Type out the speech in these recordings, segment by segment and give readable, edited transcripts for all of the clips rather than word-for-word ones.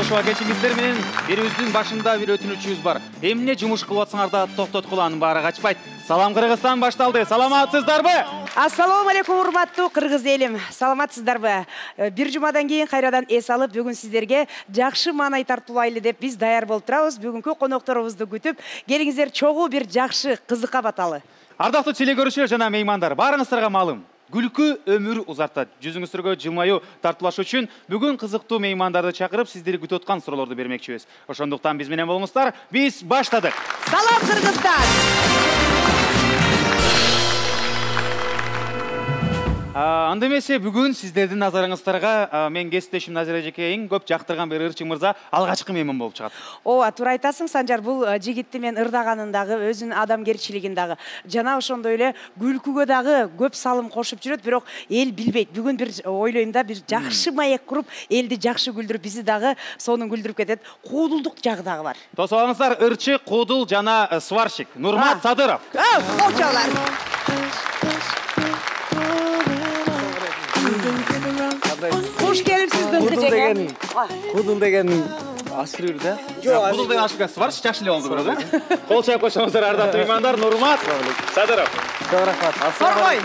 Ошого кечиңиздер менен берүүбүздүн башында бир өтүнүчүбүз бар. Эмне жумуш кылып атсаңар да токтоткула, анын баары качпайт. Салам Кыргызстан башталды. Саламатсыздарбы? Ассаламу алейкум урматтуу кыргыз элим. Саламатсыздарбы? Бир жумадан кийин кайрадан эс алып, бүгүн сиздерге жакшы маанай тартуулайлы деп биз даяр болуп турабыз. Бүгүнкү конокторубузду күтүп, келиңиздер чогуу бир жакшы кызыкка баталы. Ардактуу телекөрүүчүлөр жана меймандар, баарыңыздарга маалым. Күлкү өмүр узартат. Жүзүңүздөргө жылмаюу тартуулаш үчүн бүгүн кызыктуу меймандарды чакырып, сиздерди күтүп аткан суроолорду бермекчибиз. Ошондуктан биз менен болуңуздар. Биз баштадык. Салам Кыргызстан. Анда эмесе бүгүн сиздердин назарыңыздарга мен кесиптешим Назира эжеке эң көп жактырган бир ырчың мырза алгачкы мейман болуп чыгат. Ооба, туура айтасың, Санжар. Бул жигитти мен ырдаганын дагы, өзүнүн адамгерчилигин дагы, жана ошондой эле күлкүгө дагы көп салым кошуп жүрөт, бирок эл билбейт. Бүгүн бир ойлойм да, бир жакшы маек куруп, элди жакшы күлдүрүп, бизи дагы сонун күлдүрүп кетет. Куудулдук жагы дагы бар. Тосуп алыңыздар, ырчы, куудул жана сварщик Нурмат Садыров. Болчолар. Хош келипсиз, Дыңгы жеке. Кудул деген ашырыр да? Жок, кудул деген ашырга сварщик жакшы эле болду бирок, Кол чайып койсоңуздар, ардактуу меймандар, Нурмат Садыров. Көп рахмат. Соргой.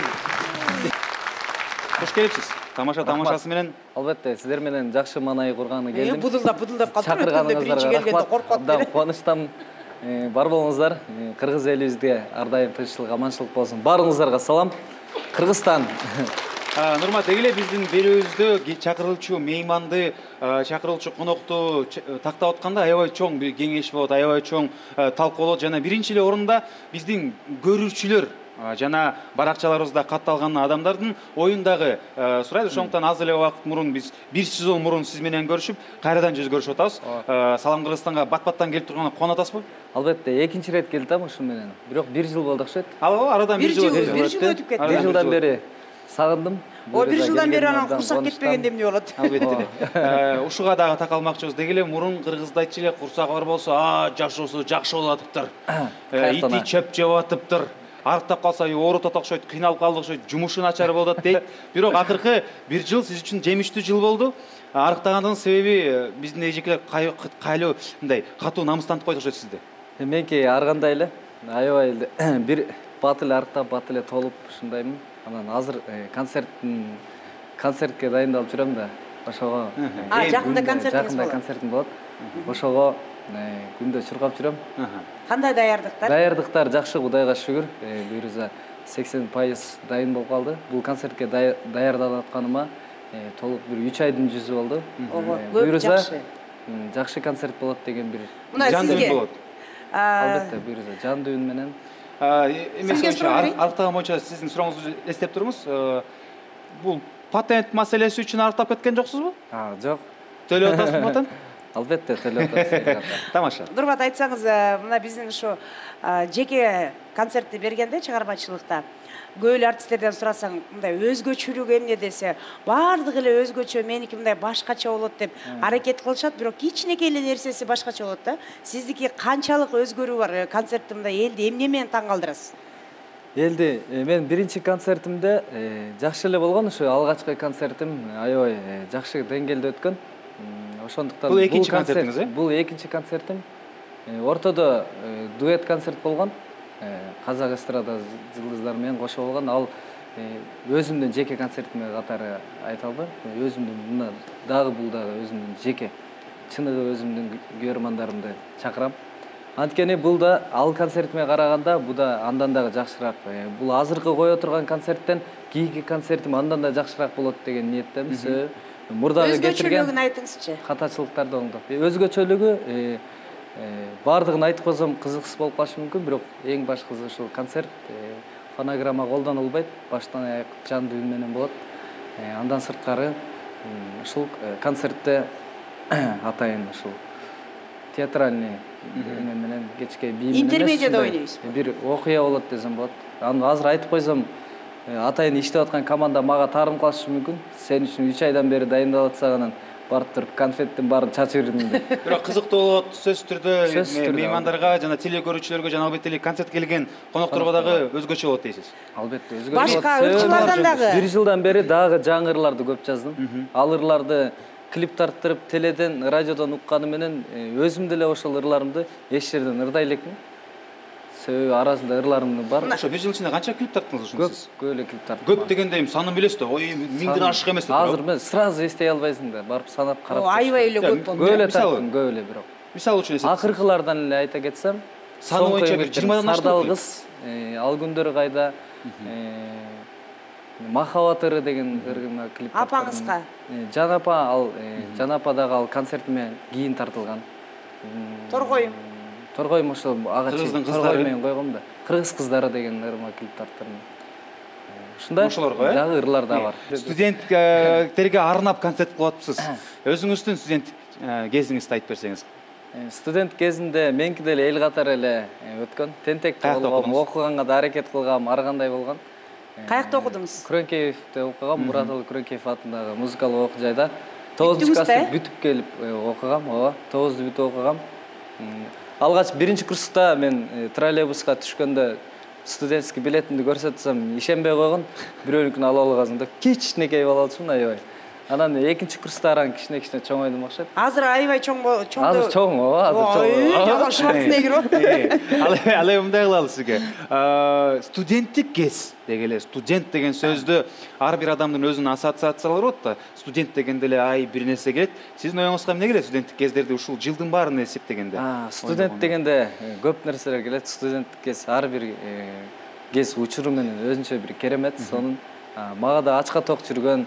Хош келипсиз. Тамашасы менен. Албетте, сиздер менен жакшы маанай курганы келдим. Будулдап калдым. Биринчи келгенде коркот. Абдан кубанычтамын. Бар болуңуздар. Кыргыз элибизге ар дайым тынччылык, аманчылык болсун. Баарыңыздарга салам. Кыргызстан. Нурмат, дегеле биздин берүүбүздө чакырылчу мейманды, чакырылчу конокту тактап атканда аябай чоң бир кеңеш болот, аябай чоң талкуу болот жана биринчи эле орунда биздин көрүүчүлөр жана баракчаларыбызда катталган адамдардын оюндагы сурайт. Ошондуктан аз эле убакыт мурун биз бир сезон мурун сиз менен көрүшүп, кайрадан жүз көрүшүп атабыз. Салам Кыргызстанга бат-баттан келип турганда кубанып атасызбы? Албетте, экинчи ирет келдим ушун менен. Бирок бир жыл болду окшойт. Арадан бир жыл өтүп кетти. Бир жылдан бери сагындым. Бир жылдан бери анан курсак кетпегенде эмне болот? Албетте. Ушуга дагы такалмакчыбыз. Дегеле мурун кыргызда айтчу эле, курсак бар болсо, жашоосу жакшы болуп атыптыр. Ити чөп жеп атыптыр. Арыктап калса оорутат окшойт, кыйналып калды окшойт, жумушу начар болот дейт. Бирок акыркы бир жыл сиз үчүн жемиштүү жыл болду. Арыктагандын себеби биздин эжекелер кайлуу мындай катуу намыстантып койду окшойт сизди. Менки аргандай эле, аябай бир бат эле арыктап, бат эле толуп ушундаймын. Анан азыр концертке дайындалып жүрөм да. Ошого жакында концертиңиз болот. Концертим болот. Ошого күндө чуркап жүрөм. Кандай даярдыктар? Даярдыктар жакшы, Кудайга шүгүр. Буюрса 80% дайын болуп калды. Бул концертке даярдалып атканыма толук бир 3 айдын жүзү болду. Буюрса жакшы концерт болот деген бир жан дүйүн болот. Албетте, буюрса жан дүйүн менен. Арыктаган боюнча сиздин сурооңузду эстеп турмуз. Бул патент маселеси үчүн арыктап кеткен жоксузбу? Жок. Төлөп атасызбы патент? Албетте, төлөп атасыз. Тамаша. Нурмат, айтсаңыз, мына биздин ушу жеке концертти бергенде чыгармачылыкта көп эле артисттерден сурасаң, мындай өзгөчөлүк эмне десе, баардыгы эле өзгөчө, меники мындай башкача болот деп аракет кылышат, бирок кичинекей эле нерсеси башкача болот да. Сиздики канчалык өзгөрүү бар концертте, мындай элди эмне менен таң калтырасыз? Элди мен биринчи концертимде жакшы эле болгон, ушу алгачкы концертим аябай жакшы деңгээлде өткөн. Ошондуктан бул экинчи концертиңиз, Бул экинчи концертим. Ортодо дуэт концерт болгон. Казак эстрада жылдыздары менен кошо болгон. Ал өзүмдүн жеке концертиме катары айта албайм. Өзүмдүн дагы бул дагы өзүмдүн жеке чыныгы өзүмдүн көрөрмандарымды чакырам. Анткени бул да ал концертиме караганда бул да андан дагы жакшыраак. Бул азыркы кое турган концерттен кийинки концертим андан да жакшыраак болот деген ниеттемиз. Мурдагы кетирген өзгөчөлүгүн айтыңызчы. Катачылыктарды оңдоп. Өзгөчөлүгү бардыгын айтып койсом кызыксыз болуп калышы мүмкүн, бирок эң башкысы ушул концерт фонограмма колдонулбайт, баштан аяк жан дүйүн менен болот. Андан сырткары ушул концертте атайын ушул театральный менен кечке бий менен интермедияда ойнойсуз. Бир окуя болот десем болот. Аны азыр айтып койсом атайын иштеп аткан команда мага таарым калышы мүмкүн. Сен үчүн 3 айдан бери дайындалып атсаң, анан барып туруп конфеттин баарын чачып жүрдүм деп. Бирок кызыктуу болот, сөзсүз түрдө меймандарга жана телекөрүүчүлөргө жана албетте эле концертке келген конокторго дагы өзгөчө болот дейсиз. Албетте, өзгөчө. Башка ырчылардан дагы бир жылдан бери дагы жаңы ырларды көп жаздым. Ал ырларды клип тарттырып, теледен, радиодон укканы менен өзүм деле ошол ырларымды эч жерден ырдай элекмин. Себеби арасында ырларым бар. Ошо бир жыл ичинде канча клип тарттыңыз ушуну сиз? Көп эле клип тарттым. Көп дегенде эми санын билесиз да. Ой, 1000ден ашык эмес деп. Азыр мен сразу эстей албайсың да. Барып санап карап. Аябай эле көп болду. Көп эле тарттым, көп эле бирок. Мисалы үчүн эсеп. Акыркылардан эле айта кетсем, саны боюнча бир 20дан ашты. Сардал кыз, ал күндөр кайда, Махабат ыры деген ырына клип тарттым. Апаңызга? Жанапа, ал Жанападагы ал концертиме кийин тартылган. Торгой. Торгойм ошол ага Кыргыздын Торгой менен койгом да. Кыргыз кыздары деген ырыма клип тарттым. Ушундай ошолорго, дагы ырлар да бар. Студенттерге арнап концерт кылып атыпсыз. Өзүңүздүн студент кезиңизди айтып берсеңиз. Студент кезинде меники деле эл катары эле өткөн. Тентекте болгом, окуганга да аракет кылгам, ар кандай болгон. Каякта окудуңуз? Күрөңкеевде окугам, Мураталы Күрөңкеев атындагы музыкалык окуу жайда 9-класты бүтүп келип окугам, ооба, 9-ду бүтүп окугам. Алгач 1-курста мен троллейбуска түшкөндө студентский билетимди көрсөтсөм, ишенбей койгон, бирөөнүкүн ала алгансың да, кичинекей бала болчумун, аябай. Анан 2-курста аран кичине чоңойдум окшойт. Азыр аябай чоң. Азыр чоң, азыр чоң. Жамашмак негир. Ал эми мындай кылалы сизге. Студенттик кез деген эле, студент деген сөздү ар бир адамдын өзүнүн ассоциациялары болот да. Студент дегенде эле бир нерсе келет. Сиздин оюңузга эмне келет студенттик кездерди ушул жылдын баарын эсептегенде? Студент дегенде көп нерселер келет. Студенттик кез ар бир кез учуру менен өзүнчө бир керемет. Сонун мага да ачка ток жүргөн,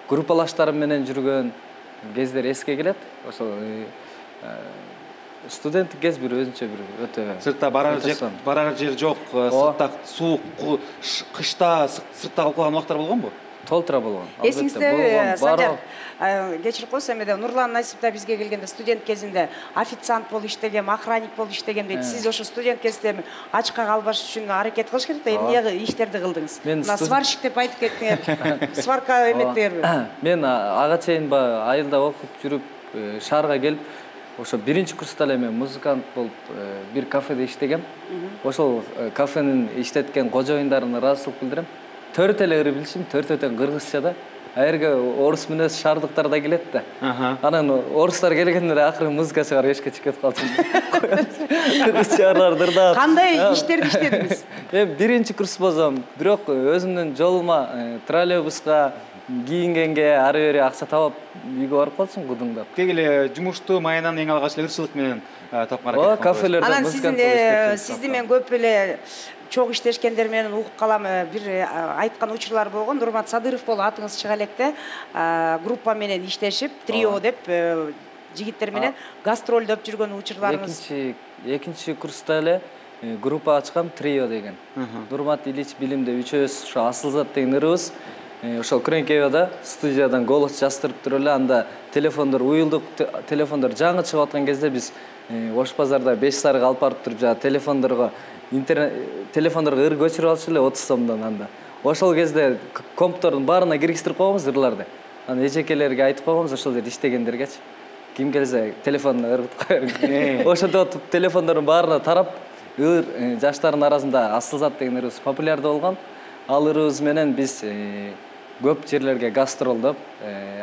группалаштарым менен жүргөн кездер эске келет. Ошол студенттик кез бир өзүнчө бир өтө. Сыртта барар жер жок, сыртта суук, кышта сыртта калган убактар болгонбу? Толтура болгон. Эсиңизде Санжар, кечирип койсом, Нурлан Насип да бизге келгенде студент кезинде официант болуп иштегем, охранник болуп иштегем дейт. Сиз ошо студент кезде ачка калбаш үчүн аракет кылыш керек да, эмне иштерди кылдыңыз? Мына сварщик деп айтып кеттиңер. Сварка эметтиңерби? Мен ага чейин айылда окуп жүрүп, шаарга келип, ошо 1-курста эле мен музыкант болуп бир кафеде иштегем. Ошол кафенин иштеткен кожоюндарына ыраазычылык билдирем. Төрт эле ыры билишим, төртөтөн кыргызча да. Айерге орус мүнөз шаардыктар да келет да. Анан орустар келгенде акыры музыка чыгарып эшикке чыгып калчумун. Кыргызча ырларды ырдап. Кандай иштерди иштедиңиз? Эми 1-курс болсом, бирок өзүмдүн жолума троллейбуска кийингенге ары бери акча табып үйгө барып калчумун кудуңдап. Кегиле жумушту майынан эң алгач эле ырчылык менен тапкан аракет. Кафелерде анан сизди мен көп эле чоң иштешкендер менен угуп калам. Бир айткан учурлар болгон. Нурмат Садыров болуп атыңыз чыга электе. Группа менен иштешип, трио деп жигиттер менен гастролдоп жүргөн учурларыңыз. 2-курста эле группа ачкам, трио деген. Нурмат Ильич Билимде үчөөбүз ошо Асылзат деген ырыбыз. Ошол Күрөңкеевде студиядан голос жаздырып туруп эле, анда телефондор уюлдук, телефондор жаңы чыгып аткан кезде биз Ош базарда 5 сарыга алып барып туруп жана телефондорго ыр көчүрүп алчу эле 30 сомдон анда. Ошол кезде комптордун баарына киргиздирип койгонбуз ырларды. Анан эжекелерге айтып койгонбуз, ошол жерде иштегендергечи. Ким келсе телефонуна ыргытып коер. Ошондо телефондордун баарына тарап, жаштардын арасында Асылзат деген ырыбыз популярдуу болгон. Ал ырыбыз менен биз көп жерлерге гастролдоп,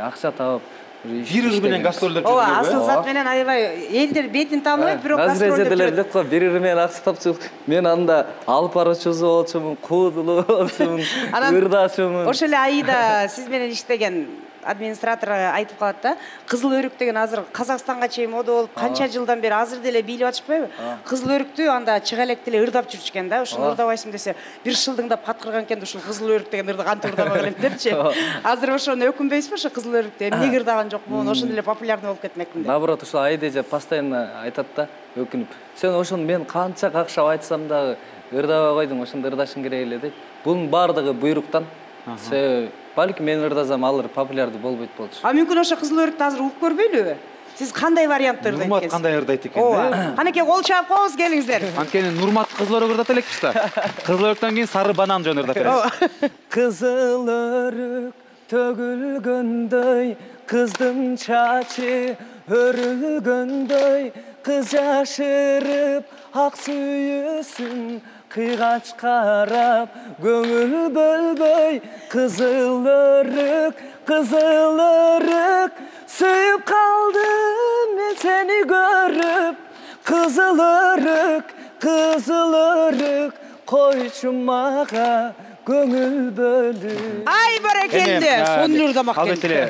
акча табып, бир ыр менен гастролдоп жүрдүңүзбү? Ооба, Асылзат менен аябай элдер бетин тааныбайт, бирок гастролдоп жүрөт. Бир ыр менен акча тапчу. Мен анда алып баруучусу болчумун, куудулуу болчумун, ырдачумун. Ошол эле айда сиз менен иштеген администратор айтып калат да, кызыл өрүк деген азыр Казакстанга чейин мода болуп, канча жылдан бери азыр деле бийлеп атышпайбы? Кызыл өрүктү анда чыга электе эле ырдап жүрчү экен да. Ошону ырдабайсың десе, бир шылдыңдап каткырган экен, ушул кызыл өрүк деген ырды кантип ырдабаган элем депчи. Азыр ошону өкүнбөйсүзбү, ошо кызыл өрүктү эмнеге ырдаган жокмун, ошондой эле популярный болуп кетмекмин деп. Наоборот, ошо Айдежа постоянно айтат да, өкүнүп. Сен ошону мен канча какшап айтсам дагы ырдабай койдуң, ошондо ырдашың керек эле дейт. Бунун баардыгы буйруктан. Себеби балким мен ырдасам алар популярдуу болбойт болчу. Мүмкүн ошо кызыл өрүктү азыр угуп көрбөйлүбү? Сиз кандай вариантты ырдайт экенсиз? Нурмат кандай ырдайт экен? Ооба. Канекей кол чаап коебуз, келиңиздер. Анткени Нурмат кызыл өрүк ырдата элекпиз да. Кызыл өрүктөн кийин сары банан жөн ырдап беребиз. Кызыл өрүк төгүлгөндөй, кыздын чачы өрүлгөндөй, кыз жашырып ак сүйүүсүн кыйгач карап көңүл бөлбөй кызыл өрүк сүйүп калдым мен сени көрүп кызыл өрүк койчу мага көңүл бөлүп. Ай баракелде, сонун ырдамак экен. Албетте эле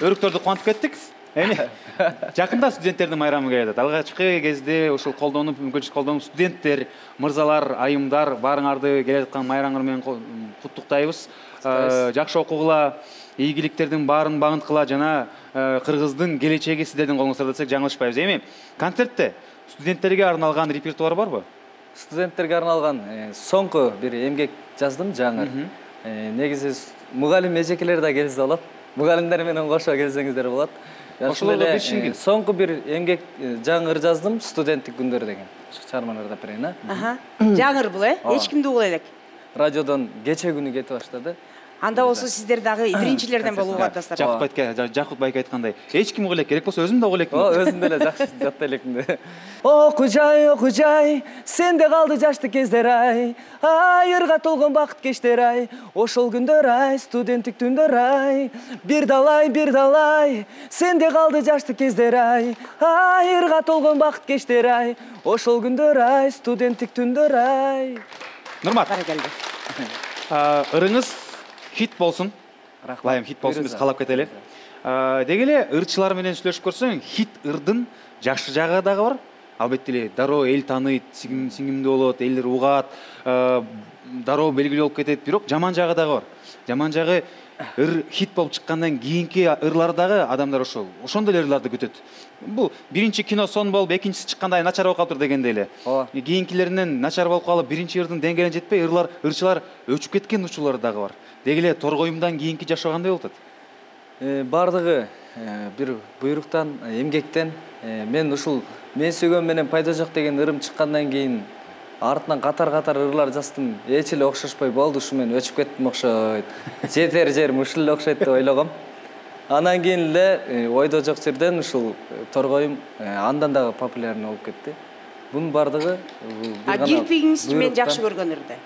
өрүктөрдү кубантып кеттик. Эми жакында студенттердин майрамы келе жатат. Алгачкы кезде ушул мүмкүнчүлүк колдонуп студенттер, мырзалар, айымдар баарыңарды келе жаткан майрамыңар менен куттуктайбыз. Жакшы окугула, ийгиликтердин баарын багынткыла жана Кыргыздын келечеги сиздердин колуңуздарда десек жаңылышпайбыз. Эми концертте студенттерге арналган репертуар барбы? Студенттерге арналган соңку бир эмгек жаздым, жаңыр. Негизи мугалим эжекелер да келсе болот. Мугалимдер менен кошо келсеңиздер болот. Ошолорду биришиңиз. Соңку бир эмгек жаңыр жаздым, студенттик күндөр деген. Чыгармаларды берейин, Жаңыр бул, эч кимди угула элек. Радиодон кече күнү кетип баштады. Анда болсо сиздер дагы биринчилерден болууга атасыздар. Жакып байке айткандай, эч ким угула элек, керек болсо өзүм да угула элекмин. Өзүм деле жакшы жатта элекмин. Оку жай, сенде калды жашты кездер ай. Айырга толгон бакыт кештер ай. Ошол күндөр ай, студенттик түндөр ай. Бир далай, сенде калды жашты кездер ай. Айырга толгон бакыт кештер ай. Ошол күндөр ай, студенттик түндөр ай. Нурмат. Ырыңыз хит болсун. Лайым хит болсун, биз каалап кетели. Деги эле ырчылар менен сүйлөшүп көрсөң, хит ырдын жакшы жагы дагы бар. Албетте эле дароо эл тааныйт, сиңимдүү болот, элдер угат, дароо белгилүү болуп кетет, бирок жаман жагы дагы бар. Жаман жагы ыр хит болуп чыккандан кийинки ырлар дагы адамдар ошондой эле ырларды күтөт. Бул биринчи кино сон болуп, экинчиси чыкканда начар болуп калыптыр дегендей эле. Кийинкилеринен начар болуп калып, биринчи ырдын деңгээлине жетпей, ырчылар өчүп кеткен учурлары дагы бар. Деги эле торгоюмдан кийинки жашоо кандай болуп атат? Бардыгы бир буйруктан, эмгектен, мен ушул мен сүйгөн менен пайда жок деген ырым чыккандан кийин артынан катар ырлар жаздым. Эч эле окшошпой болду, ушу мен өчүп кеттим окшойт. Жетер жерим ушул эле окшойт деп ойлогом. Анан кийин эле ойдо жок жерден ушул торгоюм андан дагы популярный болуп кетти. Бунун бардыгы кирпигиңиз мен жакшы көргөн ырды.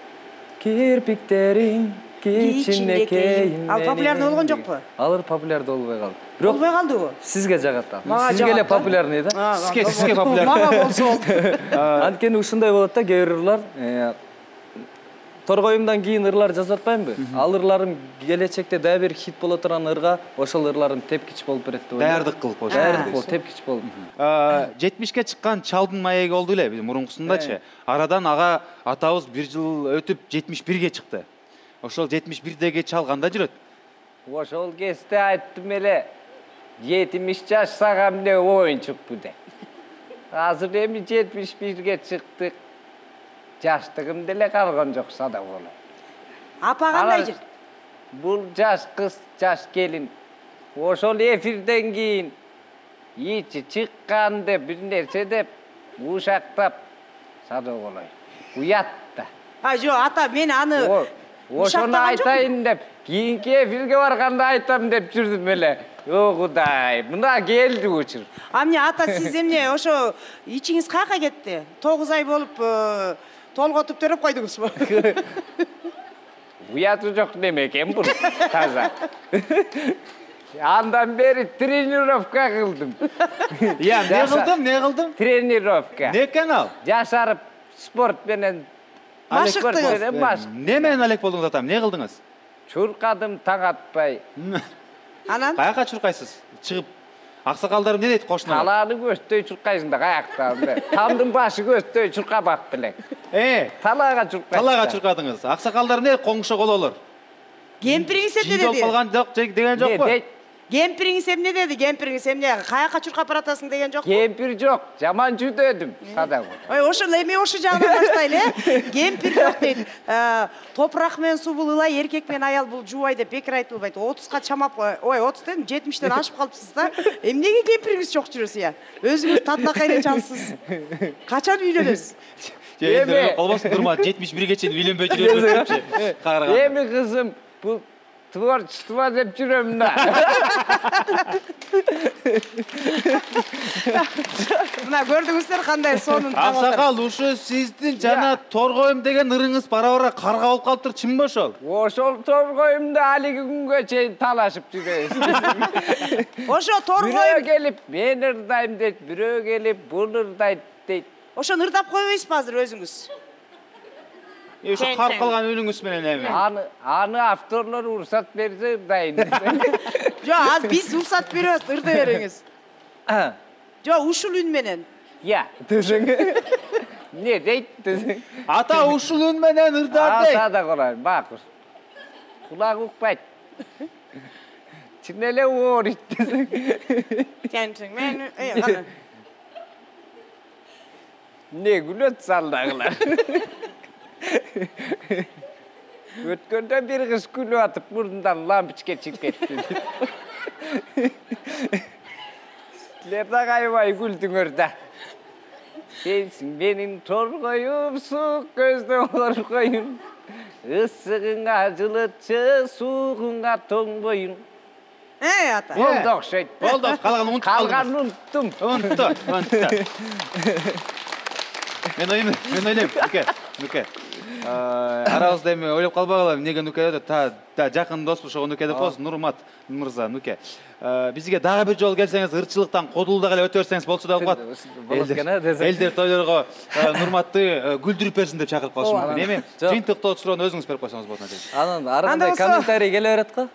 Кирпиктериң кичинекейин. Ал популярный болгон жокпу? Алар популярный болбой калды. Болбой калдыбы? Сизге жагат ал. Сизге эле популярный да? Сизге популярный. Мага болсо болду. Анткени ушундай болот да, кээ бир ырлар торгоюмдан кийин ырлар жазып атпаймынбы? Ал ырларым келечекте дагы бир хит боло турган ырга ошол ырларым тепкич болуп берет деп ойлойм. Даярдык кылып коюш. Даярдык болуп, тепкич болуп. 70ке чыккан чалдын маеги болду эле биз мурункусундачы. Арадан ага атабыз бир жыл өтүп 71ге чыкты. Ошол 71деги чал кандай жүрөт? Ошол кезде айттым эле 70 жаш сага эмне оюнчукпу деп. Азыр эми 71ге чыктык. Жаштыгым деле калган жок сада болот. Апа кандай жүрөт? Бул жаш кыз, жаш келин. Ошол эфирден кийин ичи чыккан деп бир нерсе деп ушактап сада болот. Уят да. Жок, ата мен аны ошону айтайын деп, кийинки эфирге барганда айтам деп жүрдүм эле. О Кудай, мына келди учур. Эмне ата сиз эмне ошо ичиңиз каяка кетти? 9 ай болуп толготуп төрөп койдуңузбу? Уяты жок неме экен бул таза. Андан бери тренировка кылдым. Не кылдым? Тренировка. Не экен ал? Жашарып спорт менен машыктыңыз. Не менен алек болдуңуз атам? Не кылдыңыз? Чуркадым таң атпай. Анан? Каяка чуркайсыз? Чыгып аксакалдарым не дейт кошуна? Талааны көздөй чуркайсың да каяктан. Тамдын башы көздөй чуркабак белең. Талаага чуркайсың. Талаага чуркадыңыз. Аксакалдар не коңшо кололор? Кемпириңиз эмне Жидол деди? калган жок деген жокпу? Кемпириңиз эмне деди? Кемпириңиз эмне каяка чуркап баратасың деген жокпу? Кемпир жок, жаман жүдөдүм сада. Ой, ошол эми ошо жагынан баштайлы, Кемпир жок дейт. Топурак менен суу бул ылай, эркек менен аял бул жуубай деп бекер айтылбайт. 30га чамап, ой, 30 дедим, 70тен ашып калыпсыз да. Эмнеге кемпириңиз жок жүрөсүз я? Өзүңүз татынакай чалсыз. Качан үйлөнөсүз? Эми колбосын турма 71ге чейин үйлөнбөй жүрөсүз депчи. Эми кызым, бул творчество деп жүрөм да. Мына көрдүңүздөр кандай сонун таап отур. Аксакал, ушу сиздин жана торгоюм деген ырыңыз бара-бара карга болуп калыптыр, чынбы ошол? Ошол торгоюмда алиги күнгө чейин талашып жүрөбүз. Ошо Бирөө торгоюм, келип мен ырдайм дейт, бирөө келип бул ырдайт дейт. ошону ырдап койбойсузбу азыр өзүңүз? Ошо карып калган үнүңүз менен эми. Аны авторлор уруксат берсе ырдайын. Жок, азыр биз уруксат беребиз, ырдай бериңиз. Жок, ушул үн менен. Я, десең. Не дейт десең. Ата ушул үн менен ырдар дейт. Ата да колайм, бакыр. Кулак укпайт. Чын эле оорийт десең. Сенсиң, мен кана. Не күлөт салдагылар. Өткөндө бир кыз күлүп атып, мурдундан лампочка чыгып кетти. Силер да кайбай күлдүңөр да. Сенсиң менин торгоюм, сук көздөн коргоюм. Ысыгыңа жылытчы, суугуңа тоңбоюм. Ата. Болду окшойт. Болду, калганын унутуп калдым. Калганын унуттум. Унутtu. Мен ойлойм, Нүке. Арабызда эми ойлоп калбагыла, эмнеге Нүке деп, та жакын доспуз, ошого Нүке деп коесуң, Нурмат мырза, Нүке. Бизге дагы бир жолу келсеңиз, ырчылыктан кодулдак эле өтө берсеңиз болчу деп коет. Болот экен, десең. Элдер тойлорго Нурматты күлдүрүп берсин деп чакырып калышы мүмкүн. Эми жыйынтыктоо суроону өзүңүз берип койсоңуз болот экен. Анан ар кандай комментарий келе берет го.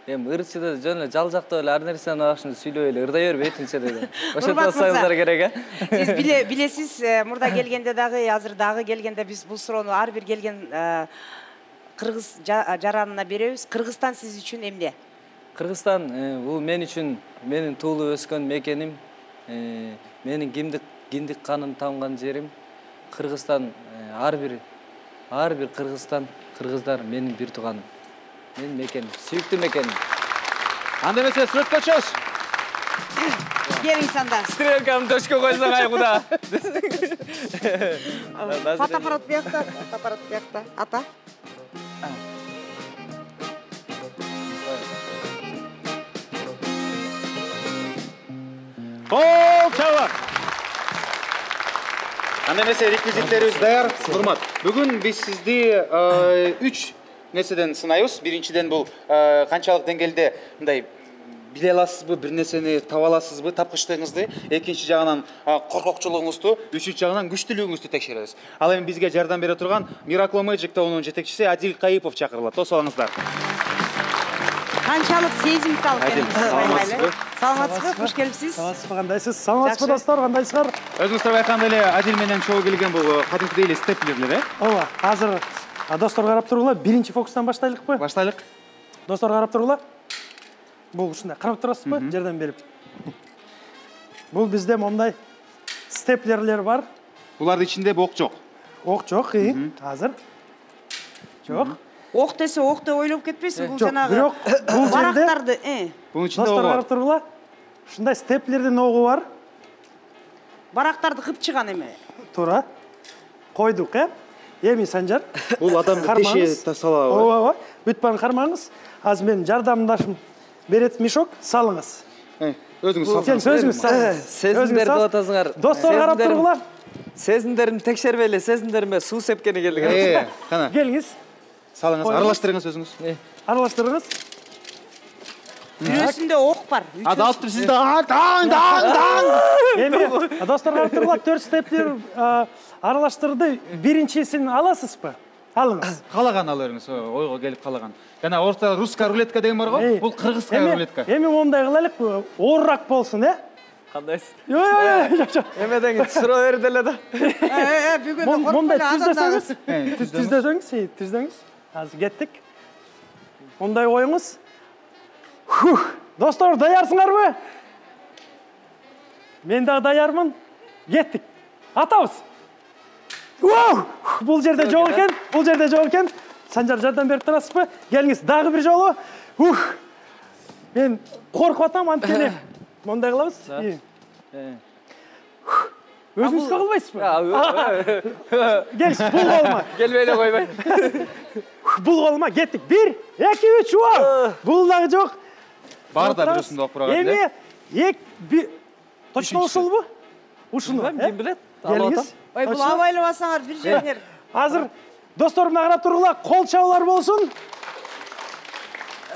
Эми ырчыда жөн эле жалжактап эле ар нерсени акшын сүйлөп эле ырдай бербейтинчи деди. Ошентип атсаңыздар керек, Сиз билесиз, мурда келгенде дагы, азыр дагы келгенде биз бул суроону ар бир келген кыргыз жаранына беребиз. Кыргызстан сиз үчүн эмне? Кыргызстан бул мен үчүн менин туулуп өскөн мекеним, менин киндик канын тамган жерим. Кыргызстан ар бир кыргыздар менин бир тууганым. Мен мекеним, сүйүктүү мекеним. Анда эмесе сүрөткө чыгыш. Келиңиз анда. Стрелкамды төшкө койсоң айгуда. Фотоаппарат биякта, ата. Чаба. Анда эмесе реквизиттерибиз даяр. Нурмат, бүгүн биз сизди 3 нерседен сынайбыз. Биринчиден бул канчалык деңгээлде мындай биле аласызбы, бир нерсени таба аласызбы, тапкычтыгыңызды, экинчи жагынан коркокчулугуңузду, үчүнчү жагынан күчтүүлүгүңүздү текшеребиз. Ал эми бизге жардам бере турган Miracle Magic тобунун жетекчиси Адил Кайыпов чакырылат. Тосолуңуздар. Канчалык сезимтал экенсиз. Саламатсызбы? Куш келипсиз. Саламатсызбы, кандайсыз? Саламатсызбы достор, кандайсыздар? Өзүңүздөр байкагандай эле Адил менен чогуу келген бул кадимкидей эле степлерлер, Ооба, азыр достор карап тургула, биринчи фокустан баштайлыкпы? Баштайлык. Достор карап тургула. Бул ушундай карап турасызбы? Жардам берип. Бул бизде мондай степлерлер бар. Булардын ичинде ок жок. Ок жок, азыр. Жок. Ок десе ок деп ойлоп кетпейсиз, бул Жок, жанагы бирок бул жерде барактарды, Бунун ичинде достор ок карап бар. тургула. Ушундай степлердин огу бар. барактарды кыпчыган эме. Туура. Койдук, Эми Санжар. Бул адамды теше тасалап. Ооба. Бүтпан кармаңыз. Азыр менин жардамдашым берет мешок, салыңыз. Өзүңүз Сен сөзүңүз салыңыз. Сезимдерди деп атасыңар. Достор карап тургула. Сезимдеримди текшербейли, сезимдериме суу сепкени келди. Кана. Келиңиз. Салыңыз, аралаштырыңыз өзүңүз. Аралаштырыңыз. Бирөөсүндө ок бар. Ада алып тур, сизде даң. Эми достор карап тургула, 4 степлер аралаштырды. Биринчисин аласызбы? Алыңыз. Калаган ала бериңиз, ойго келип калаган. Жана орта русская рулетка деген бар го, бул кыргызская рулетка. Эми мондай кылайлык, оорак болсун, Кандайсыз? Жок. Эмеден суроо берди эле да. Бүгүн Мондай коркпойт түздөсөңүз, түздөңүз. Азыр кеттик. Мондай коюңуз. Достор, даярсыңарбы? Мен дагы даярмын. Кеттик. Атабыз. Бул жерде жок экен, Санжар жардам берип турасызбы? Келиңиз, дагы бир жолу. Мен коркуп атам, анткени. Мондай кылабыз. Өзүңүз кагылбайсызбы? Келиш, бул колума. Келбей эле койбой. Бул колума кеттик. 1, 2, 3 Бул дагы жок. Бар да бир ушундай окуп турган эле. Эми точно ушулбу? Ушуну. Ким билет? Келиңиз. Ой, бул абайлабасаңар бир жердер. Азыр досторум карап туруңла, кол чабуулар болсун.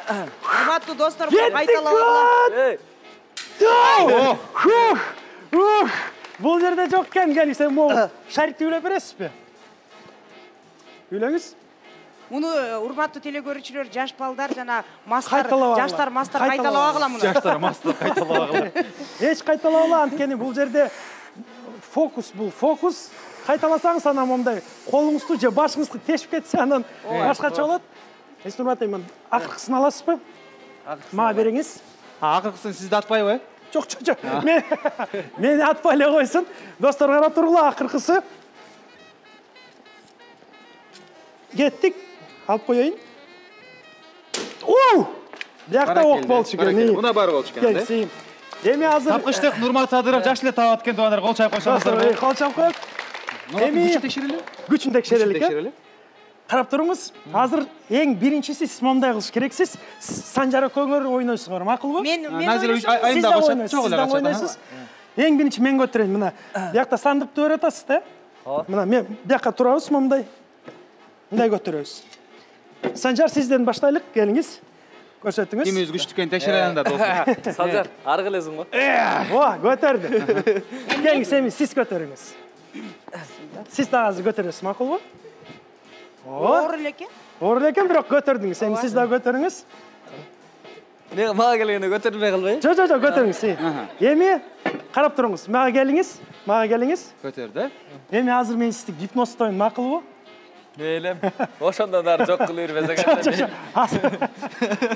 Урматтуу достор, кайталабагыла. Бул жерде жок экен, келиңиз. Сен могу шарикти үйлөп бересизби? Үйлөңүз. Муну урматтуу телекөрүүчүлөр, жаш балдар жана мастар, Кайталабагыла. жаштар мастар кайталабагыла муну. Жаштар мастар кайталабагыла. Эч кайталабагыла, анткени бул жерде фокус, бул фокус. Кайталасаңыз анан мондай колуңузду же башыңызды тешип кетсе анан башкача болот. Эстурматайм, акыркысын аласызбы? Мага бериңиз. Акыркысын сизди атпайбы? Жок. Мени атпай эле койсун. Достор карап туруңла, акыркысы. Кеттик. Алып коеюн. Биякта ок болчу экен. Мына бар болчу экен, Келсин. Эми азыр тапкычтык Нурмат Садыров жаш эле таап аткан туугандар, кол чайып койсоңуздар. кол чабып коет. Эми текшерели? Күчүн текшерели. Карап туруңуз. Азыр эң биринчиси сиз мондай кылыш керексиз. Санжар экөөңөр ойнойсуңар, макулбу? Мен айында ойнойсуз. Эң биринчи мен көтөрөйүн. Мына биякта сандыкты өрөп атасыз да? Мына мен биякка турабыз мондай. Мындай көтөрөбүз. Санжар, сизден баштайлык, келиңиз. Көрсөтүңүз. Кимиз күчтүү экен текшерелиңдер, достор. Санжар, ары келесиң го? Көтөрдү. Келиңиз, эми сиз көтөрүңүз. Сиз дагы азыр көтөрөсүз, макулбу? оор элеке. Оор элекен, бирок көтөрдүңүз. Эми сиз дагы көтөрүңүз. Мен мага келгенде көтөрүлбөй калбай? Жок, көтөрүңүз. Эми карап туруңуз. Мага келиңиз. Көтөрдү. Эми азыр мен сизди гипноздойм, макулбу? Мейлем. Ошондон ары жок кылып бербесең.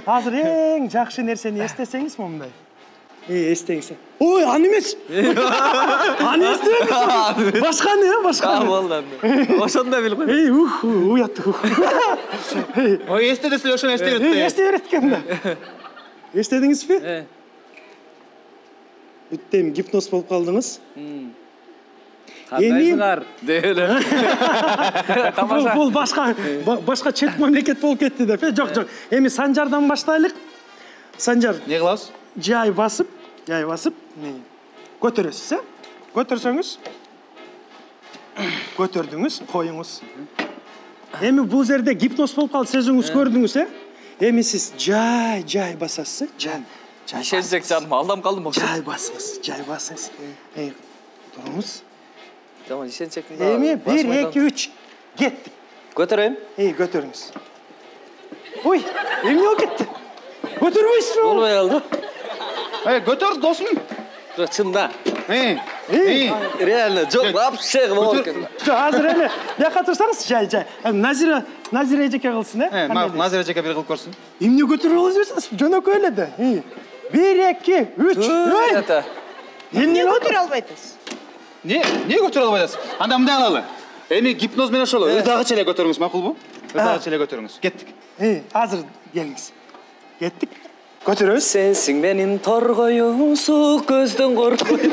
Азыр эң жакшы нерсени эстесеңиз мондай. Эстеңиз. Ой, аны эмес. Аны эстебеңиз. Башканы. Болду. Ошондой билип кой. Уят. Ой, эстедесиз ошону эстей берет. Эстей берет экен да. Эстедиңизби? Бүттем гипноз болуп калдыңыз. Кандайсыңар? Деле. Бул башка чет мамлекет болуп кетти деп. Жок. Эми Санжардан баштайлык. Санжар, Не кылабыз? жай басып, көтөрөсүз, Көтөрсөңүз, көтөрдүңүз, коюңуз. Эми бул жерде гипноз болуп калды, сөзүңүз көрдүңүз, Эми сиз жай басасыз, жай. Ишенсек жаным, алдам калдым. Жай басыңыз. Туруңуз. Жаман ишенсек. Эми 1, 2, 3 кеттик. Көтөрөйүн. Көтөрүңүз. Ой, эмне болуп кетти? Көтөрбөйсүзбү? Болбой калды. Көтөр, досум. Бирок чында. Реально, жок, вообще болот экен. Азыр эле бияка турсаңыз, жай. Назира эжеке кылсын, Назира эжеке бир кылып көрсүн. Эмне көтөрүп алып жүрсүңүз? Жөнөкөй эле да. 1, 2, 3. Эмне көтөрө албайсыз? Не көтөрө албайсыз? Анда мындай кылалы. Эми гипноз менен ошол ырдагыча эле көтөрүңүз, макулбу? Ырдагыча эле көтөрүңүз. Кеттик. Азыр келиңиз. Кеттик. Көтөрөбүз. Сенсиң менин торгоюм, суу көздөн коркпойм.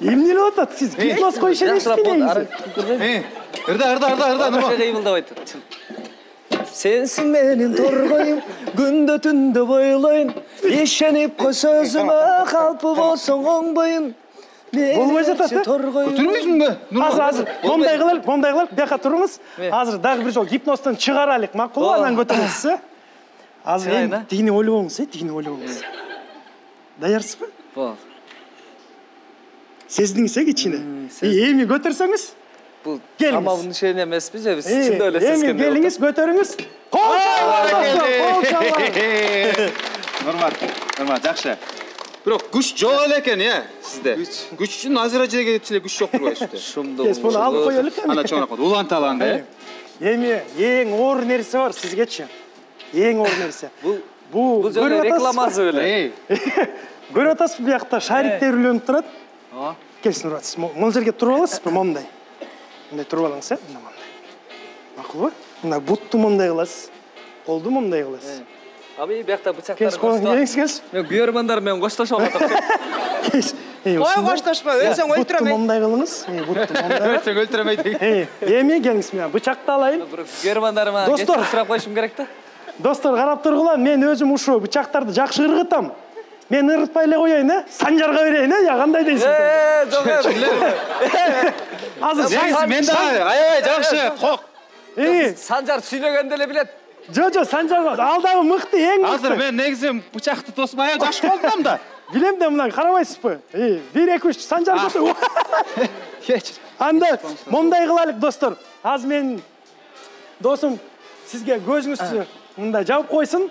Эмне болуп атат? Сиз гипноз коюш эмеспи? Ырда. Кыймылдабай тур. Сенсиң менин торгоюм, күндө түндө бойлойм. Ишенип кой сөзүмө, калпы болсоң оңбойм. Болбой жатат, Көтөрбөйсүңбү? Азыр мондай кылайлык, бияка туруңуз. Азыр дагы бир жол гипноздон чыгарайлык, макулбу? Анан көтөрөсүз, Азыр эми тигини ойлобоңуз, Даярсызбы? Бол. Сездиңиз, кичине. Эми көтөрсөңүз? Бул самабын ишене эмеспи же биз чында эле сезгенде. Эми келиңиз, көтөрүңүз. Кол чабыңыз. Нормат, жакшы. Бирок күч жок эле экен, сизде. Күч үчүн Назира эжеге күч жок турбайбы сизде? Шумду. Буну алып коелук эми. Ана чоңураак уланталанды. Эми эң оор нерсе бар сизгечи. Эң оор нерсе. Бул жолу рекламасы беле. Көрүп атасызбы, биякта шариктер үлөнүп турат. Келсин, Нурат, могул жерге туруп аласызбы, момундай. Мындай туруп алыңыз, мындай. Макулбу? Мына бутту момундай кыласыз. Колду момундай кыласыз. Аби биякта бычактар. Келиңиз. Мен күйөрмандар менен коштошуп атат. Кой коштошпо, өлсөң өлтүрөм. Мындай кылыңыз. Бутты мындай. Өлсөң өлтүрөмөй деген. Эми келиңиз менен бычакты алайын. Көрөрмандарыма Достор, сурап коюшум керек да. Достор, карап тургула, мен өзүм ушу бычактарды жакшы ыргытам. Мен ыргытпай эле коеюн, Санжарга берейин, я кандай дейсиң? Азыр Мен да аябай жакшы. Кок. Санжар сүйлөгөндө эле билет. Жо, Санжар алдагы мыкты, эң мыкты. Азыр мен негизи бычакты тосуп аябай жакшы колдоном да. Билем да, мына карабайсызбы? 1 2 3 Санжар көрсө. Кечир. Анда мондай кылайлык, достор. Азыр мен досум сизге көзүңүздү мындай жабып койсун.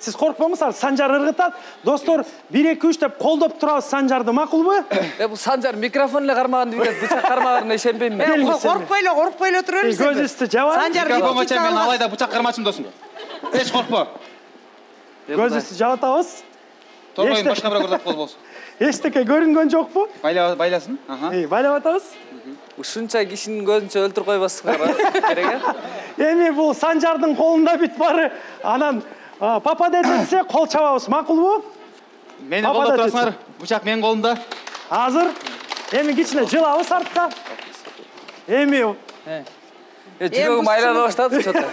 Siz korkmamısınız, Sancar ırgıtat. Dostlar 1-2-3 деп колдоп турабыз Санжарды, макулбу? Бу Санжар микрофон эле кармаган билет, бычак кармаганына ишенбейм мен. Коркпой эле тура берсең. Көзүстү жаба. Санжар микрофонго чейин мен алайда бычак кармачым досум. Эч коркпо. Көзүстү жабатабыз. Торгойдун башка бирөө көрдөп болбосун. Эчтеке көрүнгөн жокпу? Байласын. Байлап атабыз. Ушунча кишинин көзүнчө өлтүрүп койбассыңар керек э? Эми бул Санжардын колунда бүт бары. Анан папа десе кол чабабыз, макулбу? Мени колдоп турасыңар, бычак менин колумда. Азыр эми кичине жылабыз артка. Эми жүрөгүм айлана баштады чото.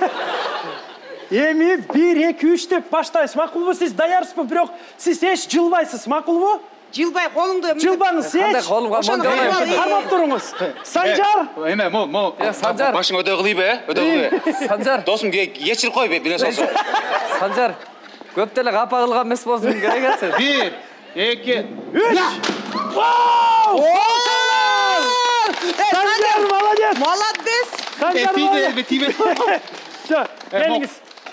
Эми 1-2-3 деп баштайбыз, макулбу? Сиз даярсызбы? Бирок сиз эч жылбайсыз, макулбу? Жылбай колуңду. Жылбаңыз эч. Кармап туруңуз. Санжар. Эме, мо. Санжар. Башың өдө кылыйбы, өдө кылыйбы. Санжар. Досум кечирип кой, биле болсо. Санжар. Көп деле капа кылган эмес болсун керек эсе. 1 2 3. Вау! Санжар молодец. Молодец. Санжар молодец. Тиме. Жо, келиңиз.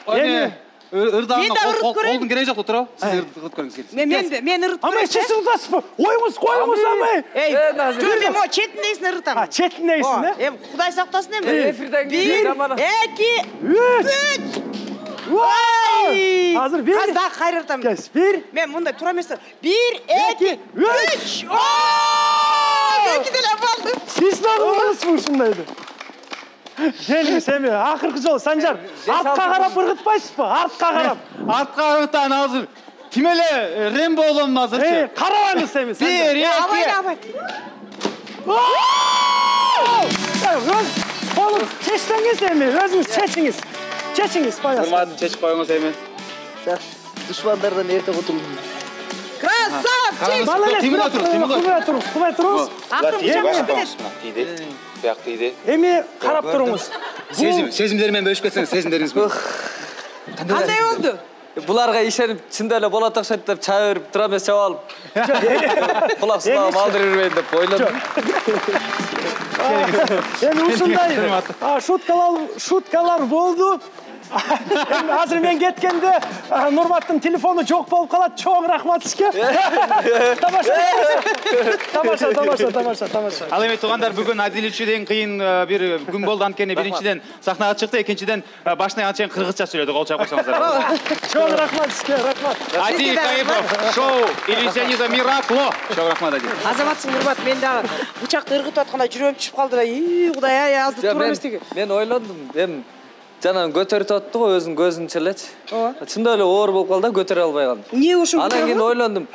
Эми ырдаган колдун кереги жок тура. Сиз ырдыт көрүңүз келиңиз. Мен ырдып көрөм. Амай сиз ырдасызбы? Коюңуз амай. Жо, мен мо четиндейсин ырдытам. Четиндейсин, э? Кудай сактасын эми. Эфирден кийин 1 2 3. Вау! Азыр 1. Аз да кайрыртам. 1. Мен мындай тура эмес. 1 2 3. Эки деле болду. Сиз да кылдыңызбы ушундайды? Келиңиз эми акыркы жолу Санжар. Артка карап ыргытпайсызбы? Артка карап. Артка ыргытан азыр. Ким эле Рембо болом азырчы? Карабаңыз эми Санжар. 1 2 Абай. Колун чечсеңиз эми, өзүңүз чечиңиз. Чечиңиз, баягы. Урматын чечип коюңуз эми. Душмандардан эрте кутулдум. Красавчик. Молодец. Кубай туруңуз. Акырын бычак кетет. Тийди. Бияк тийди. Эми карап туруңуз. Сезимдери менен бөлүшүп кетсеңиз, сезимдериңизби? Кандай болду? Буларга ишенип чында эле болот окшойт деп чаа берип тура эмес чап алып. Кулак сулап алдыра бербейин деп ойлодум. Эми ушундай шуткалар болду. Эми азыр мен кеткенде Нурматтын телефону жок болуп калат. Чоң рахмат сизге. Тамаша. Ал эми туугандар, бүгүн Адил үчүн кыйын бир күн болду. Анткени биринчиден сахнага чыкты, экинчиден башынан чейин кыргызча сүйлөдү. Кол чап койсоңуздар. Чоң рахмат сизге, рахмат. Адил Кайыпов, шоу Иллюзионизм Миракло. Чоң рахмат Адил. Азаматсың, Нурмат, мен дагы бычакты ыргытып атканда жүрөгүм түшүп калды да. Кудай азды тура эмес деген. Мен ойлондум, эми жанан көтөрүп атты го өзүнүн көзүнчө элечи. Чында эле оор болуп калды, көтөрө албай калдым. Эмне ушул? Анан кийин ойлондум.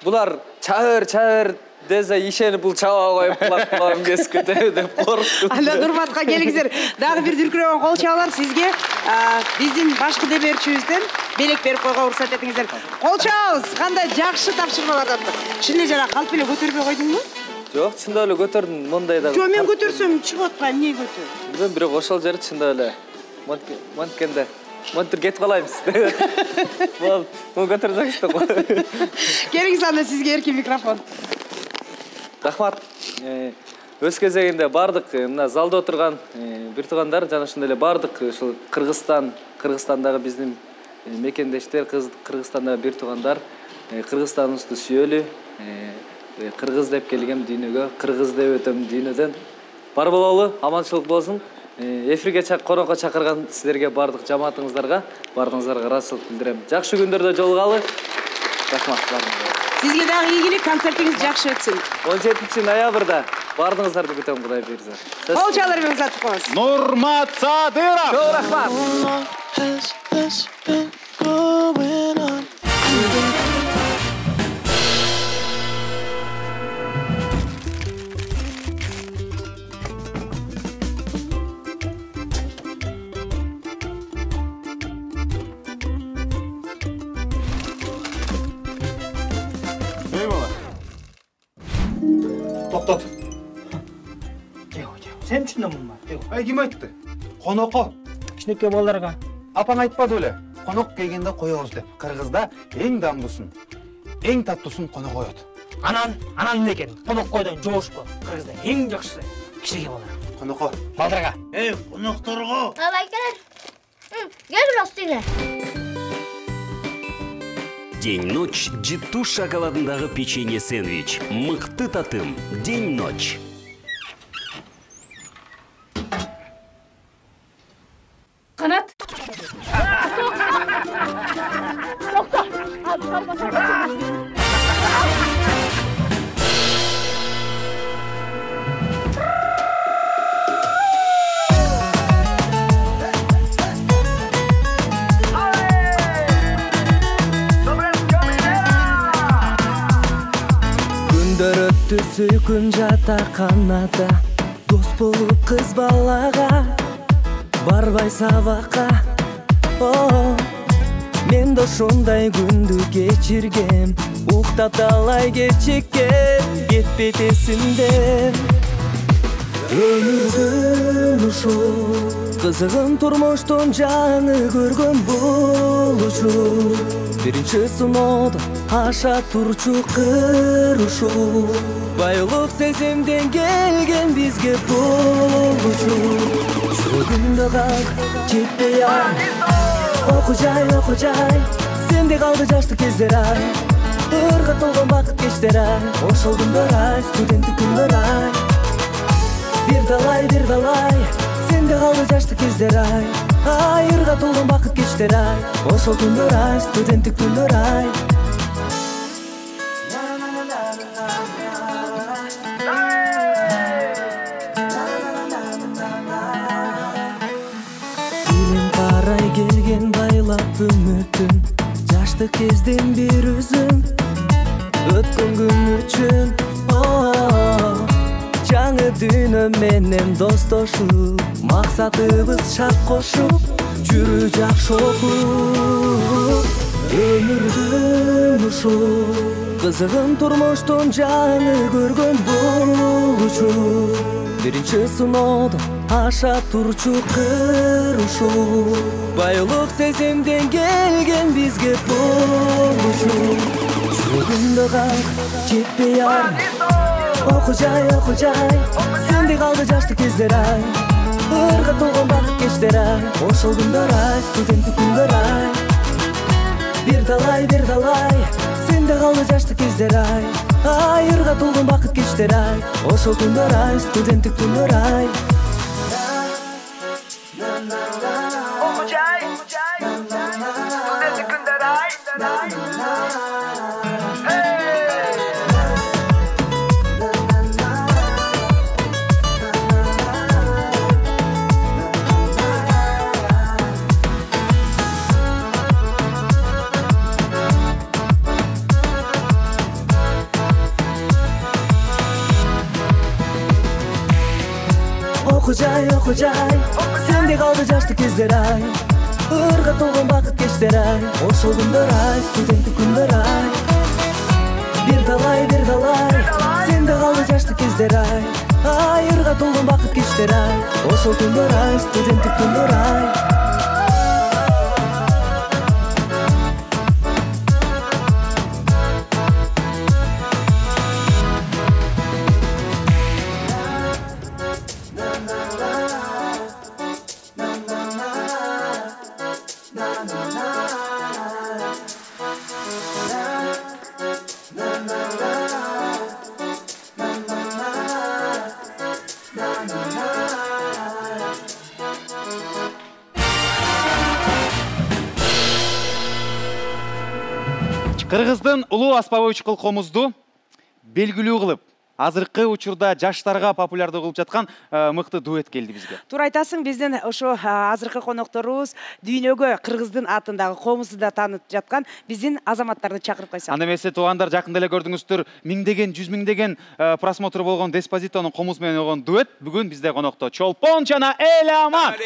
Булар чабыр десе ишенип бул чаба коюп кулам кесип кетеби деп корктум. Анда Нурматка келиңиздер. Дагы бир дүркүрөгөн кол чабуулар сизге биздин башкы демерчибизден белек берип койгонго уруксат этиңиздер. Кол чабабыз. Кандай жакшы тапшырмалардан. Чын эле жана калп эле көтөрбөй койдуңбу? Жок, чында эле көтөрдүм, мондайда. Жо, мен көтөрсөм чыгып атпайм, эмне көтөр? Мен бирок ошол жери чында эле монткенде монтур кетип калайбыз. Бул көтөрсөңүз да. Келиңиз, анда сизге эркин микрофон. Рахмат. Өз кезегинде бардык мына залда отурган бир туугандар жана ошондой эле бардык ушул Кыргызстандагы биздин мекендештер, Кыргызстандагы бир туугандар Кыргызстаныбызды сүйөлү, кыргыз деп келгем дүйнөгө, кыргыз деп өтөм дүйнөдөн. Бар бололу, аманчылык болсун. Эфирге конокко чакырган силерге, бардык жамаатыңыздарга, бардыгыңыздарга ыраазычылык билдирем. Жакшы күндөрдө жолугалы. Рахмат баарыңызга. Сизге дагы ийгилик, концертиңиз жакшы өтсүн. 17 ноябрда бардыгыңыздарды күтөм, Кудай буйрса. Кол чалар менен узатып коебуз. Нурмат Садыров. Чоң рахмат. эй бала. Токтот. Сен үчүн да мун бар. Ай, ким айтты? Конокко. Кичинекей балдарга. Апаң айтпады беле? Конок келгенде коебуз деп. Кыргызда эң дамдусын, эң таттусын конок коет. Анан эмне экен? Конок койдон жоошпу. Кыргызда эң жакшысы кичинекей балдар. Конокко. Балдарга. Конокторго. Алайкалар. Gel biraz dinle. День-ночь Житу шоколадындагы печенье сэндвич. Мыкты татым. День-ночь. Kanat. Күндөр өттү сүйкүн жатаканада, дос болуп кыз балага, барбай сабакка. Мен да ушундай күндү кечиргем, уктап талай кечиккем, кетпейт эсимден. Өмүрдүн ушул кызыгын турмуштун жаңы көргөн бул учур, биринчи сыноодо аша турчу кыр ушул, байлык сезимден келген бизге бул учур. Жүрөгүмдө калды жетпей ай, окужай, сенде калды жаштык кездер ай, ырга толгон бакыт кечтер ай, ошол күндөр ай, студенттик күндөр ай. Бир талай, сенде калды жаштык кездер ай, айырга толгон бакыт кечтер ай, ошол күндөр ай, студенттик күндөр ай. Илим карай келген байлап үмүтүм, жаштык кездин бир үзүм, өткөн күн үчүн. Жаңы дүйнө менен достошуп, максатыбыз шарт кошуп, жүрү жакшы окуп. Өмүрдүн ушул кызыгын турмуштун жаңы көргөн бул учур, биринчи сыноодо аша турчу кыр ушул, байлык сезимден келген бизге бул учур. Жүрөгүмдө калды жетпей ай, окужай, сенде калды жаштык кездер ай, ырга толгон бакыт кечтер ай, ошол күндөр ай, студенттик күндөр ай. Бир талай, сенде калды жаштык кездер ай, айырга толгон бакыт кечтер ай, ошол күндөр ай, студенттик күндөр ай. Окужай, студенттик күндөр ай. Окужай, сенде калды жаштык кездер ай, ырга толгон бакыт кечтер ай, ошол күндөр ай, студенттик күндөр ай. Бир талай, сенде калды жаштык кездер ай, айырга толгон бакыт кечтер ай, ошол күндөр ай, студенттик күндөр ай. Кыргыздын улуу аспабы чыкылкомузду белгилүү кылып, азыркы учурда жаштарга популярдуу кылып жаткан мыкты дуэт келди бизге. Туура айтасың, биздин ошо азыркы конокторубуз дүйнөгө кыргыздын атындагы комузду да таанытып жаткан биздин азаматтарды чакырып койсок. Анда эмесе туугандар, жакында эле көрдүңүздөр, миңдеген, жүз миңдеген просмотр болгон Деспозитонун комуз менен болгон дуэт бүгүн бизде конокто. Чолпон жана Эламан.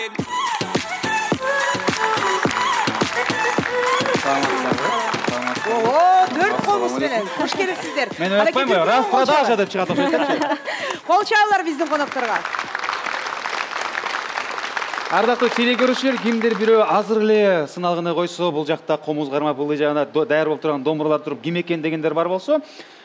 Ого, 4 комуз менен кош келипсиздер. Мен айтпаймынбы, раз продажа деп чыгат окшойт. Кол чабыңдар биздин конокторго. Ардактуу телекөрүүчүлөр, кимдир бирөө азыр эле сыналгыны койсо, бул жакта комуз кармап, бул жагында даяр болуп турган домбуралар туруп, ким экен дегендер бар болсо,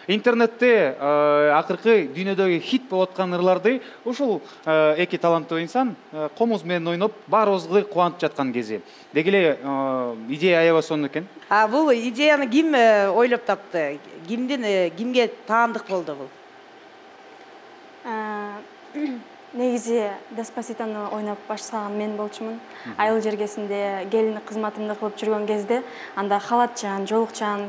интернетте акыркы дүйнөдөгү хит болуп аткан ырларды ушул эки таланттуу инсан комуз менен ойноп, баарыбызды кубантып жаткан кези. Деги эле идея аябай сонун экен. Бул идеяны ким ойлоп тапты? Кимге таандык болду бул? Негизи Деспаситону ойноп баштаган мен болчумун. Айыл жергесинде келиндик кызматымды кылып жүргөн кезде, анда халатчан, жолукчан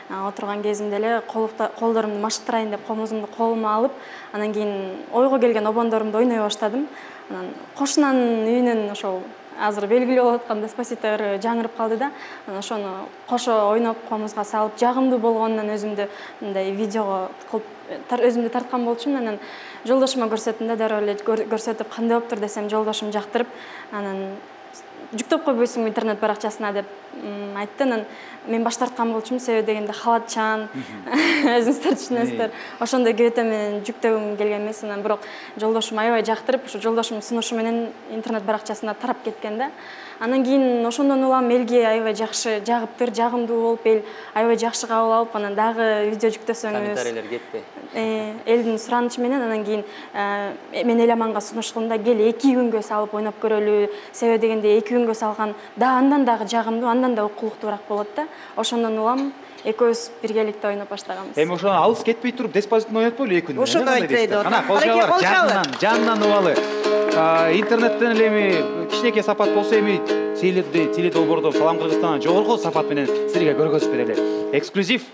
отурган кезимде эле колдорумду машыктырайын деп комузумду колума алып, анан кийин ойго келген обондорумду ойной баштадым. Анан кошунанын үйүнөн ошол азыр белгилүү болуп аткан Деспасито жаңырып калды да. Анан ошону кошо ойноп комузга салып, жагымдуу болгонунан өзүмдү мындай видеого кылып өзүмдү тарткан болчумун. Анан жолдошума көрсөттүм да, дароо эле көрсөтүп, кандай болуптур десем, жолдошум жактырып, анан жүктөп койбойсуңбу интернет баракчасына деп айтты. Анан мен баш тарткан болчумун, себеби дегенде халатчан, өзүңүздөр түшүнөсүздөр. Ошондой кебете менен жүктөгүм келген эмес. Анан бирок жолдошум аябай жактырып, ушу жолдошумдун сунушу менен интернет баракчасына тарап кеткен да. Анан кийин ошондон улам элге аябай жакшы жагыптыр, жагымдуу болуп, эл аябай жакшы кабыл алып, анан дагы видео жүктөсөңүз комментарийлер кетпи. Элдин суранычы менен анан кийин мен Эламанга сунуш кылдым да, кел 2 күнгө салып ойноп көрөлү. Себеби дегенде 2 күнгө салган андан дагы жагымдуу, андан да окулуктуураак болот да. Ошондон улам экөөбүз биргеликте ойноп баштаганбыз. Эми ошону алыс кетпей туруп Деспаситону ойнотпойлу 2 күн. Ошондой айтпайт. Ана колчалар жанынан убалы. Интернеттен эле эми кичинекей сапат болсо, эми теледолбоордон Салам Кыргызстандан жогорку сапат менен силерге көргөзүп берели. Эксклюзив.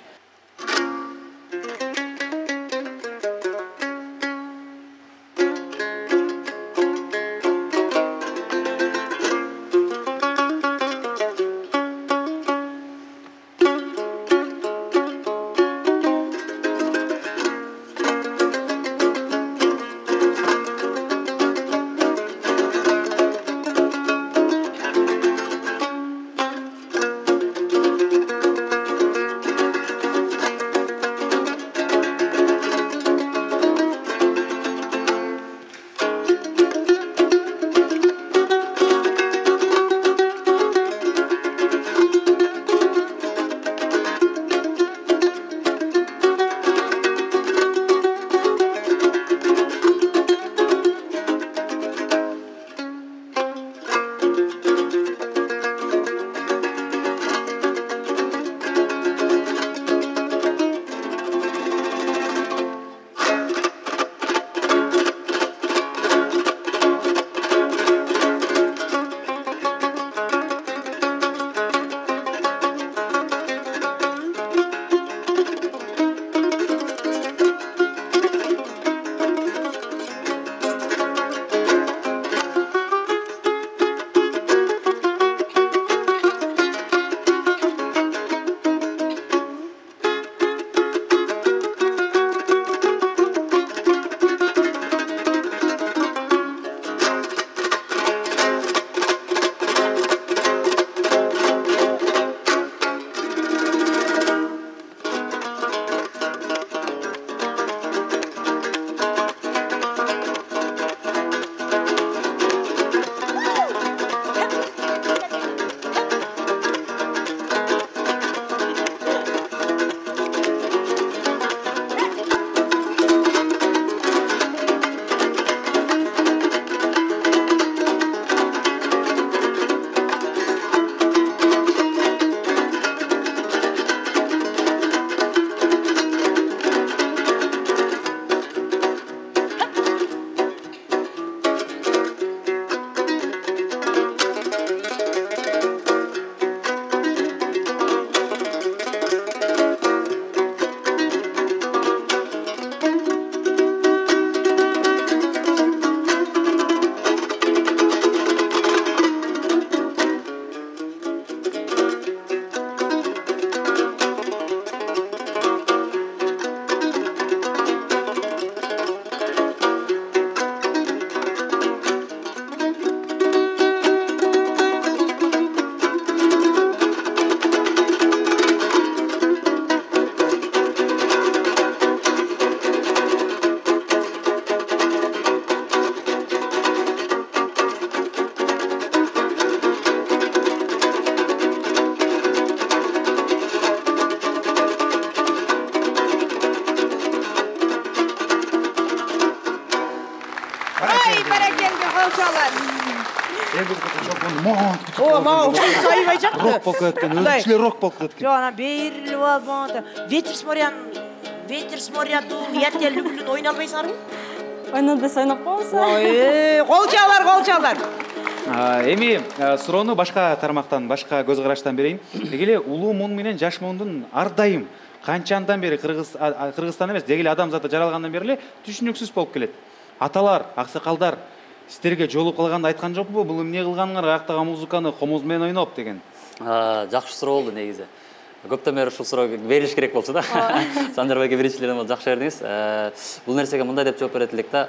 О, мага ушунчу аябай жакты. Рок болуп кеткен, өзүнчөлөр рок болуп кеткен. Жок, анан берилип алып монда ветер с моря дул, я тебя люблю ойнай албайсыңарбы? Ойноп десе ойноп коебуз. Кол чалар. Эми суроону башка тармактан, башка көз караштан берейин. Деги эле улуу муң менен жаш муңдун ар дайым канча андан бери Кыргызстан эмес, деги эле адамзаты жаралгандан бери эле түшүнүксүз болуп келет. Аталар, аксакалдар сиздерге жолугуп калганда айткан жокпу? Бул эмне кылганыңар, аяктагы музыканы комуз менен ойноп деген? Жакшы суроо болду негизи. Көптөн бери ушул суроого бериш керек болчу да. Санжарбек биринчилерден болуп жакшы бердиңиз. Бул нерсеге мындай деп жооп берет элек да.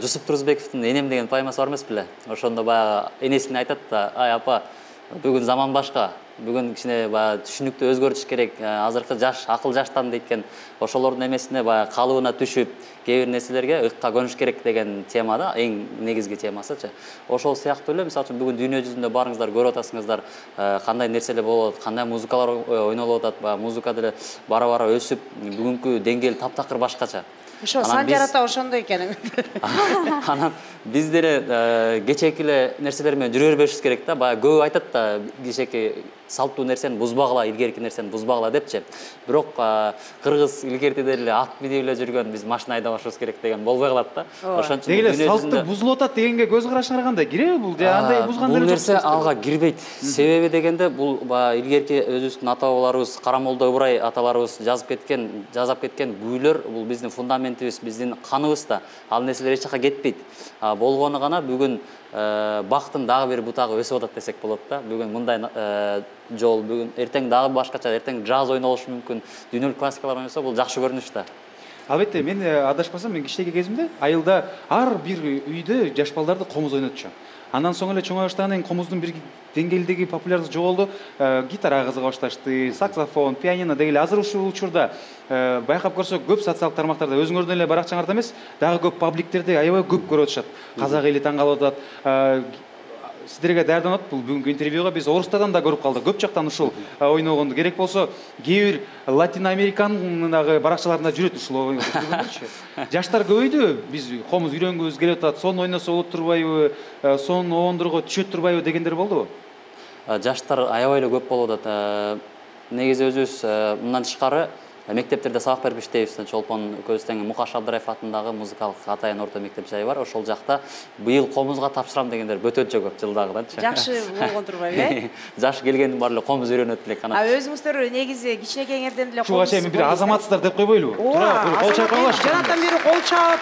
Жусуп Турузбековдун «Энем» деген поэмасы бар эмес беле? Ошондо баягы энесине айтат да, ай апа, бүгүн заман башка, бүгүн кичине баягы түшүнүктү өзгөртүш керек, азыркы жаш, акыл жаштан дейкен, ошолордун эмесине баягы калыбына түшүп, кээ бир нерселерге ыкка көнүш керек деген тема да, эң негизги темасычы. Ошол сыяктуу эле, мисалы үчүн бүгүн дүйнө жүзүндө барыңыздар көрүп атасыңыздар, кандай нерселер болуп атат, кандай музыкалар ойнолуп атат, баягы музыка деле бара-бара өсүп, бүгүнкү деңгээл таптакыр башкача. Ошо Санжар ата ошондой экен. Анан биз деле кечээки эле нерселер менен жүрө бербешибиз керек да. Баягы көбү айтат да, кечээки салттуу нерсени бузбагыла, илгерки нерсени бузбагыла депчи. Бирок кыргыз илгертиде эле ат минип эле жүргөн, биз машина айдабашыбыз керек деген болбой калат да. Ошон үчүн деле салттуу бузулуп атат дегенге көз карашыңар кандай? Киреби бул? Андай бузган деле жок. Бул нерсе ага кирбейт. Себеби дегенде бул илгерки өзүбүздүн ата бабаларыбыз, Карамолдо Ыбырай аталарыбыз жасап кеткен күүлөр, бул биздин фундаментибиз, биздин каныбыз да. Ал нерселер эч жака кетпейт. Болгону гана бүгүн бактын дагы бир бутагы өсүп атат десек болот да. Бүгүн мындай жол, бүгүн эртең дагы башкача, эртең джаз ойнолушу мүмкүн, дүйнөлүк классикалар ойносо бул жакшы көрүнүш да. Албетте, мен адашпасам, мен кичинекей кезимде айылда ар бир үйдө жаш балдарды комуз ойнотчу. Андан соң эле чоңая баштагандан кийин комуздун бир деңгээлдеги популярдыгы жоголду. Гитарага кызыга башташты, саксофон, пианино деги эле. Азыр ушул учурда байкап көрсөк, көп социалдык тармактарда өзүңөрдүн эле баракчаңарда эмес, дагы көп пабликтерде аябай көп көрүп атышат. Казак эли таң калып атат. Сиздерге даярданат бул бүгүнкү интервьюга биз орустардан да көрүп калдык. Көп жактан ушул ойногонду. Керек болсо, кээ бир Латин Американын баракчаларында жүрөт ушул ойногончу. Жаштар көбөйдү. Биз комуз үйрөнгүбүз келип атат. Сон ойносо болот турбайбы? Сон оондурго түшөт турбайбы дегендер болдубу? Жаштар аябай эле көп болуп атат. Негизи өзүбүз мындан тышкары мектептерде сабак берип иштейбиз. Чолпон Көзтең Мукаш Абдыраев атындагы музыкалык атайын орто мектеп жайы бар. Ошол жакта быйыл комузга тапшырам дегендер өтө көп жылдагыданчы. Жакшы болгон турбайбы, э? Жаш келгендин баары эле комуз үйрөнөт элек. Өзүңүздөр негизи кичинекейиңерден эле комуз. Чуга бир азаматсыздар деп койбойлубу? Кол чайкалаш. Жанаттан бери кол чаап.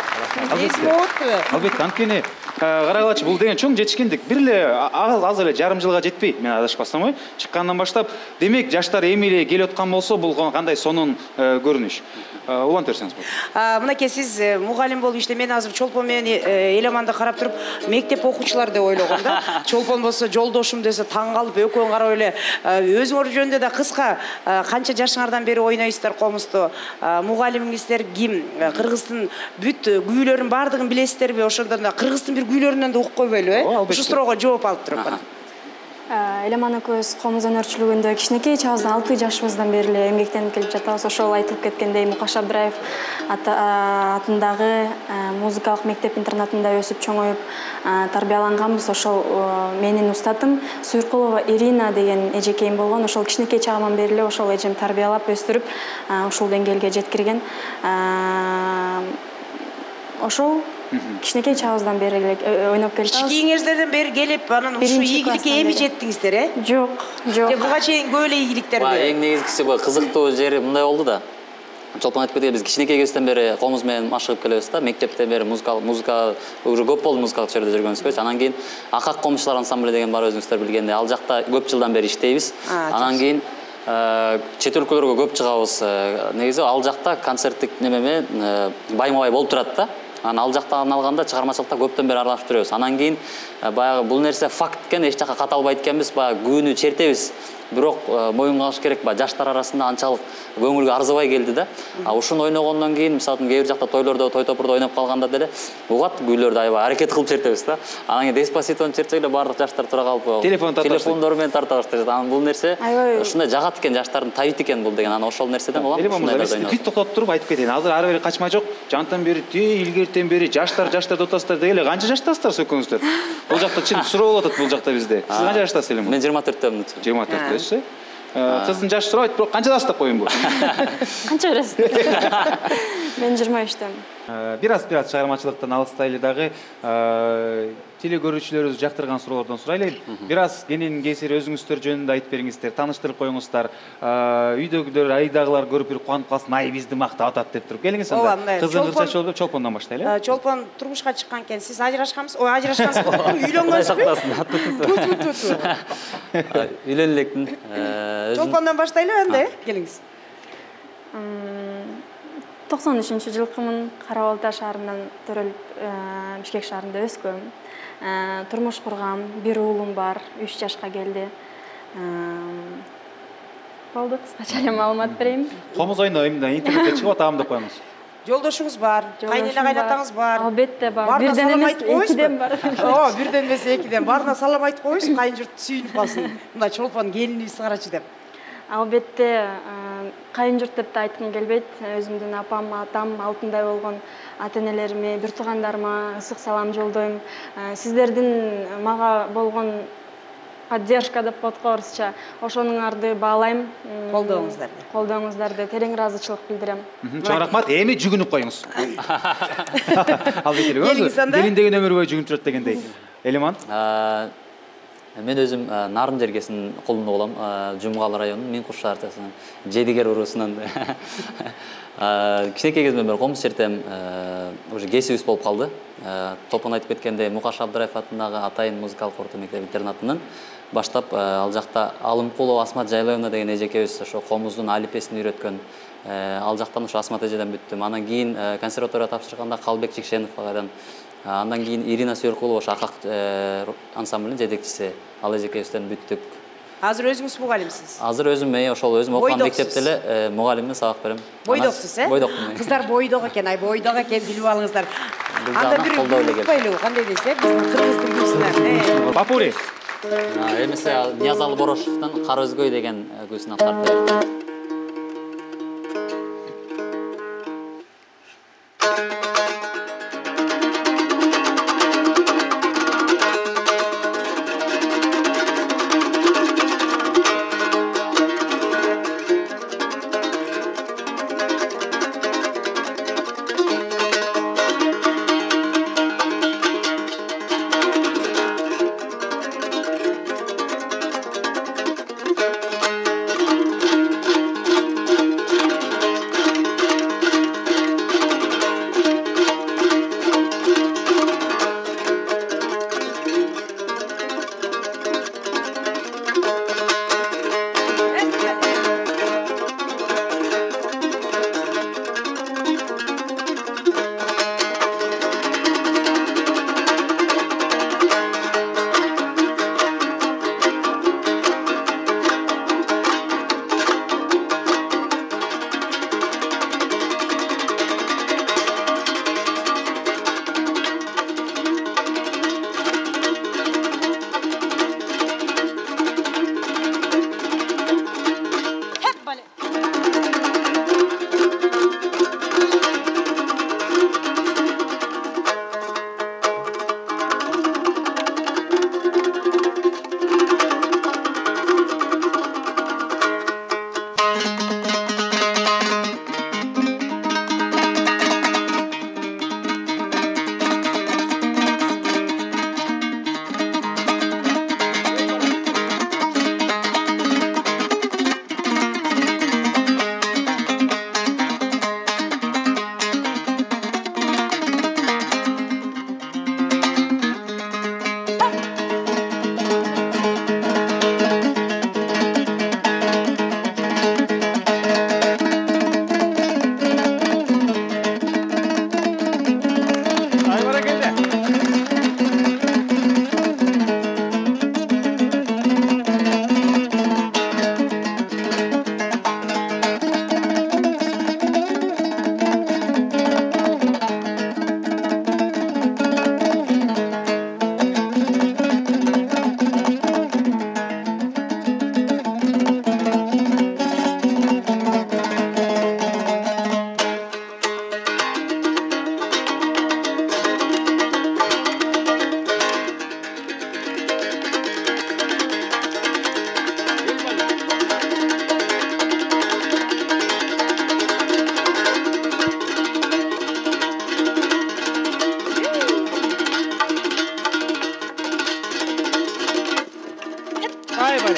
Албетте, анткени карагылачы, бул деген чоң жетишкендик. Бир эле аз эле жарым жылга жетпей, мен адашпасам ой, чыккандан баштап, демек жаштар эми эле келип аткан болсо, бул кандай сонун көрүнүш. Улантып берсеңиз болот. Мынакей сиз мугалим болуп иштеп, мен азыр Чолпон менен Эламанды карап туруп, мектеп окуучулар деп ойлогом да. Чолпон болсо жолдошум десе таң калып, экөөң карап эле өзүңөр жөнүндө да кыска канча жашыңардан бери ойнойсуздар комузду? Мугалимиңиздер ким? Кыргыздын бүт күүлөрүнүн баардыгын билесиздерби? Ошондон да Кыргыздын бир күүлөрүнөн да угуп койбойлу, э? Ушул суроого жооп алып туруп кана. Эламан экөөбүз комуз өнөрчүлүгүндө кичинекей чагыбыздан 6 жашыбыздан бери эле эмгектенип келип жатабыз. Ошол айтылып кеткендей Мукаш Абдыраев атындагы музыкалык мектеп интернатында өсүп чоңоюп тарбияланганбыз. Ошол менин устатым Суйркулова Ирина деген эжекейим болгон. Ошол кичинекей чагымдан бери эле ошол эжем тарбиялап өстүрүп ушул деңгээлге жеткирген. Ошол кичинекей чагыбыздан бери эле ойноп келатабыз. Кичинекейиңиздерден бери келип, анан ушул ийгиликке эми жеттиңиздер, э? Жок. Буга чейин көп эле ийгиликтерди. Эң негизгиси кызыктуу жери мындай болду да. Чолпон айтып кеткендей, биз кичинекей кезден бери комуз менен машыгып келебиз да. Мектептен бери музыка уже көп болду музыкалык чөйрөдө жүргөнүзгө. Анан кийин Акак комузчулар ансамбль деген бар, өзүңүздөр билгендей. Ал жакта көп жылдан бери иштейбиз. Анан кийин чет өлкөлөргө көп чыгабыз. Негизи ал жакта концерттик неме менен байма-бай болуп турат да. Анан ал жактан алганда чыгармачылыкта көптөн бери аралашып жүрөбүз. Анан кийин баягы бул нерсе факт экен, эч жака каталбайт экенбиз, баягы күнү чертебиз. Бирок моюнга алыш керек, жаштар арасында анчалык көңүлгө арзыбай келди да. Ушуну ойногондон кийин, мисалы үчүн кээ бир жакта тойлордо, той топурда ойноп калганда деле угат күйлөрдү аябай аракет кылып чертебиз да. Анан кийин Деспаситону чертсек эле баардык жаштар тура калып телефондору менен тарта башташат. Анан бул нерсе ушундай жагат экен, жаштардын табит экен бул деген. Анан ошол нерседен улам ушундай бүт токтотуп туруп айтып кетейин. Азыр ары бери качма жок. Жантан бери илгери эртен бери жаштар деп атасыздар дегеле канча жаштасыздар экөөңүздөр? Бул жакта чын суроо болуп атат бул жакта бизде. Сиз канча жаштасыз эле? Мен 24-төмүн. 24-төсүз. Кыздын жашы сурабайт, бирок канчадасыз деп коеюнбу? Канча бересиз? Мен 23-төмүн. Бир аз чыгармачылыктан алыстайлы дагы теле көрүүчүлөрүбүз жактырган суроолордон сурайлы. Бир аз кенен кесир өзүңүздөр жөнүндө айтып бериңиздер, тааныштырып коюңуздар. Үйдөгүлөр, айдагылар көрүп бир кубанып калсын, ай бизди мактап атат деп туруп. Келиңиз анда. Кыздын кырчачы болуп Чолпондон баштайлы. Чолпон турмушка чыккан экен. Сиз ажырашкансыз? Ой, ажырашкансызбы? Үйлөнгөнсүзбү? Үйлөнүп электин. Чолпондон баштайлы анда, келиңиз. 93-жылкымын. Кара Балта шаарынан төрөлүп, Бишкек шаарында өскөм. Турмуш кургам, бир уулум бар, 3 жашка келди. Болду, кыскача эле маалымат берейин. Комуз айында интернетке чыгып атам деп коюңуз. Жолдошуңуз бар, кайнеле кайнатаңыз бар. Албетте бар. Бирден эмес, экиден бар. Бирден эмес, экиден. Барына салам айтып коюңуз, кайын журт сүйүнүп калсын. Мында Чолпон келинибиз карачы деп. Албетте, кайын журт деп да айткым келбейт. Өзүмдүн апам, атам, алтындай болгон ата-энелериме, бир туугандарыма ысык салам жолдойм. Сиздердин мага болгон поддержка деп коебузча, ошонуңарды баалайм. Колдооңуздарды терең ыраазычылык билдирем. Чоң рахмат. Эми жүгүнүп коюңуз. Албетте, келин деген өмүр бою жүгүнүп жүрөт дегендей. Элиман? Мен өзүм Нарын жергесинин колунда болом, Жумгал районунун Миңкуш шаарчасынын Жедигер уруусунан. Кичинекей кезимден бери комуз чертем, уже кесибиз болуп калды. Топун айтып кеткендей, Мукаш Абдыраев атындагы Атайын музыкалык орто мектеп интернатынан баштап ал жакта Алымкулова Асмат Жайлоевна деген эжекебиз ошо комуздун алипесин үйрөткөн. Ал жактан ошо Асмат эжеден бүттүм. Анан кийин консерваторияга тапшырганда Калбек Чикшенов кайдан. Андан кийин Ирина Сүйөркулова ошо Акак ансамблинин жетекчиси. Ал эжекебизден бүттүк. Азыр өзүңүз мугалимсиз? Азыр өзүм ошол өзүм окуган мектепте эле мугалимдин сабак берем. Бойдоксуз, Бойдокмун. Кыздар бойдок экен, бойдок экен, билип алыңыздар. Анда бир унутпайлы, кандай десе, биздин кыргыз тилдүүсүнөн. Папури. Эмесе Ниязалы Борошовдун Кара өзгөй деген күйсүн аткарып. Аябай.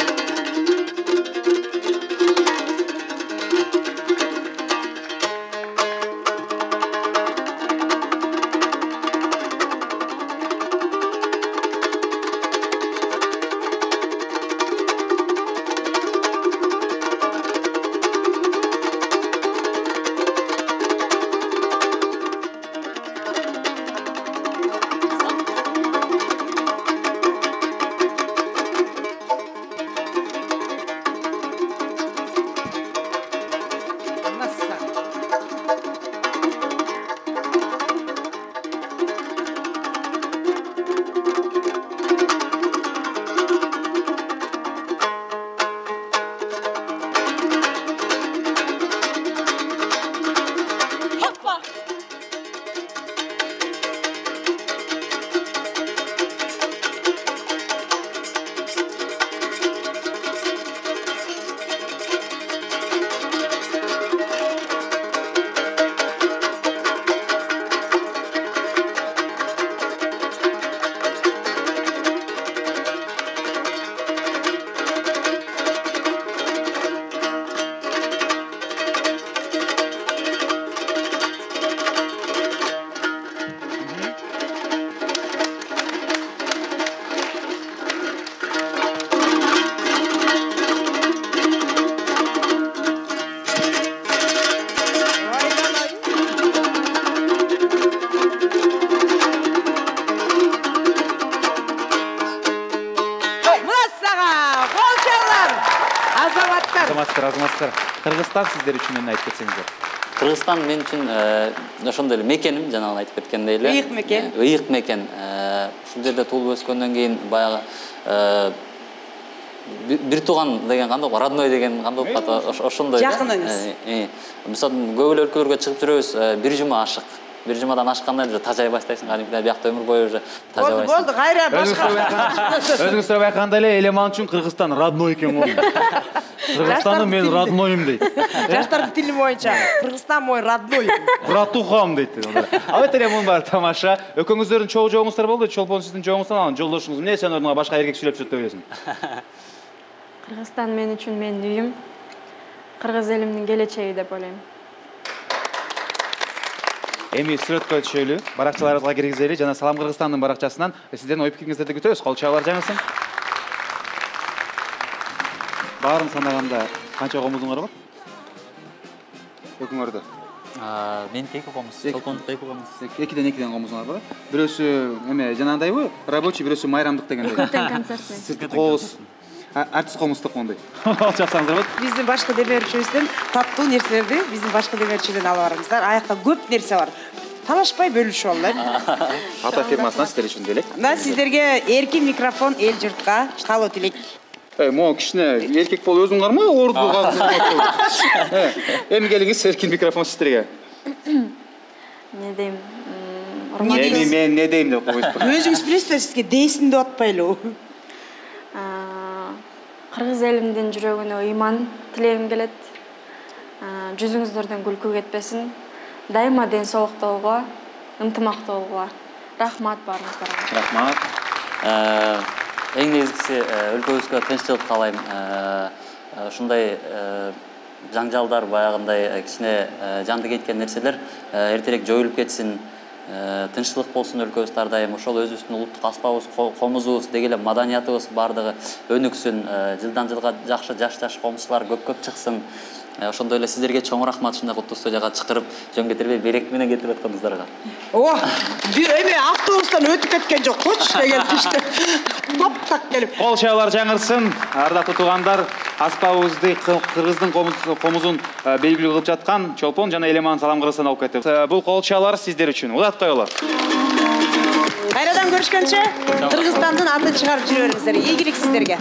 Азаматтар, Кыргызстан сиздер үчүн эмне айтып кетсеңиздер? Кыргызстан мен үчүн ошондой эле мекеним, жанагы айтып кеткендей эле. Ыйык мекен. Ыйык мекен. Ушул жерде туулуп өскөндөн кийин баягы бир тууган деген кандай, родной деген кандай болуп ошондой. Жакыныңыз. Мисалы көп эле өлкөлөргө чыгып жүрөбүз, бир жума ашык. Бир жумадан ашканда уже тажай баштайсың, кадимкидей биякта өмүр бою уже тажабайсың. Болду, кайра башка. Өзүңүз сурап айткандай эле Элеман үчүн Кыргызстан родной экен го. Кыргызстанды мен роднойум дейт. Жаштардын тили боюнча Кыргызстан мой родной. Братухам дейт. Албетте эле мун бар тамаша. Экөөңүздөрдүн чогуу жогуңуздар болду. Чолпон сиздин жогуңуздан анан жолдошуңуз эмне сен ордуна башка эркек сүйлөп жүрөт деп ойлойсуң? Кыргызстан мен үчүн менин үйүм. Кыргыз элимдин келечеги деп ойлойм. Эми сүрөткө түшөлү, баракчаларыбызга киргизели жана Салам Кыргызстандын баракчасынан сиздердин ой пикириңиздерди күтөбүз. Кол чабуулар жаңырсын. Баарын санаганда канча комузуңар бар? Экөөңөрдө. Меники 2 комуз, Чолпондук 2 комуз. 2ден комузуңар бар. Бирөөсү эме жанагындайбы? Рабочий, бирөөсү майрамдык дегендей. Сырттан концерт. Сырт коз. Артист комуздук мондай. Чаксаңыздар болот. Биздин башкы демөөрчүбүздөн таттуу нерселерди биздин башкы демөөрчүдөн алып барыңыздар. Аякта көп нерсе бар. Талашпай бөлүшүп алалы. Ата фирмасынан сиздер үчүн делек. Мына сиздерге эркин микрофон эл журтка талоо тилек. Могу кичине эркек болуп өзүң карма, орду казып. Эми келиңиз, эркин микрофон сиздерге. Не дейм? Эми мен не дейм деп койсуңуз. Өзүңүз билесиздер, сизге дейсин деп атпайлы. Кыргыз элимдин жүрөгүнө ыйман тилегим келет. Жүзүңүздөрдөн күлкү кетпесин. Дайыма ден соолуктуулукка, ынтымактуулукка. Рахмат баарыңыздарга. Рахмат. Эң негизгиси өлкөбүзгө тынччылык каалайм. Ушундай жаңжалдар, баягындай кичине жанды кеткен нерселер эртерээк жоюлуп кетсин. Тынччылык болсун өлкөбүз ар дайым. Ошол өзүбүздүн улуттук аспабыбыз, комузубуз, деги эле маданиятыбыз бардыгы өнүксүн. Жылдан жылга жаш комузчулар көп чыксын. Ошондой эле сиздерге чоң рахмат, ушундай куттуу студияга чакырып, жөн кетирбей берек менен кетирип атканыңыздарга. Эми автобустан өтүп кеткен жок, коч деген иште. Таптак келип. Кол чабуулар жаңырсын. Ардактуу туугандар, аспабыбызды Кыргыздын комузун белгилүү кылып жаткан Чолпон жана Элеман Салам Кыргызстан алып кетти. Бул кол чабуулар сиздер үчүн. Улат коелу. Кайрадан көрүшкөнчө Кыргызстандын атын чыгарып жүрө бериңиздер. Ийгилик сиздерге.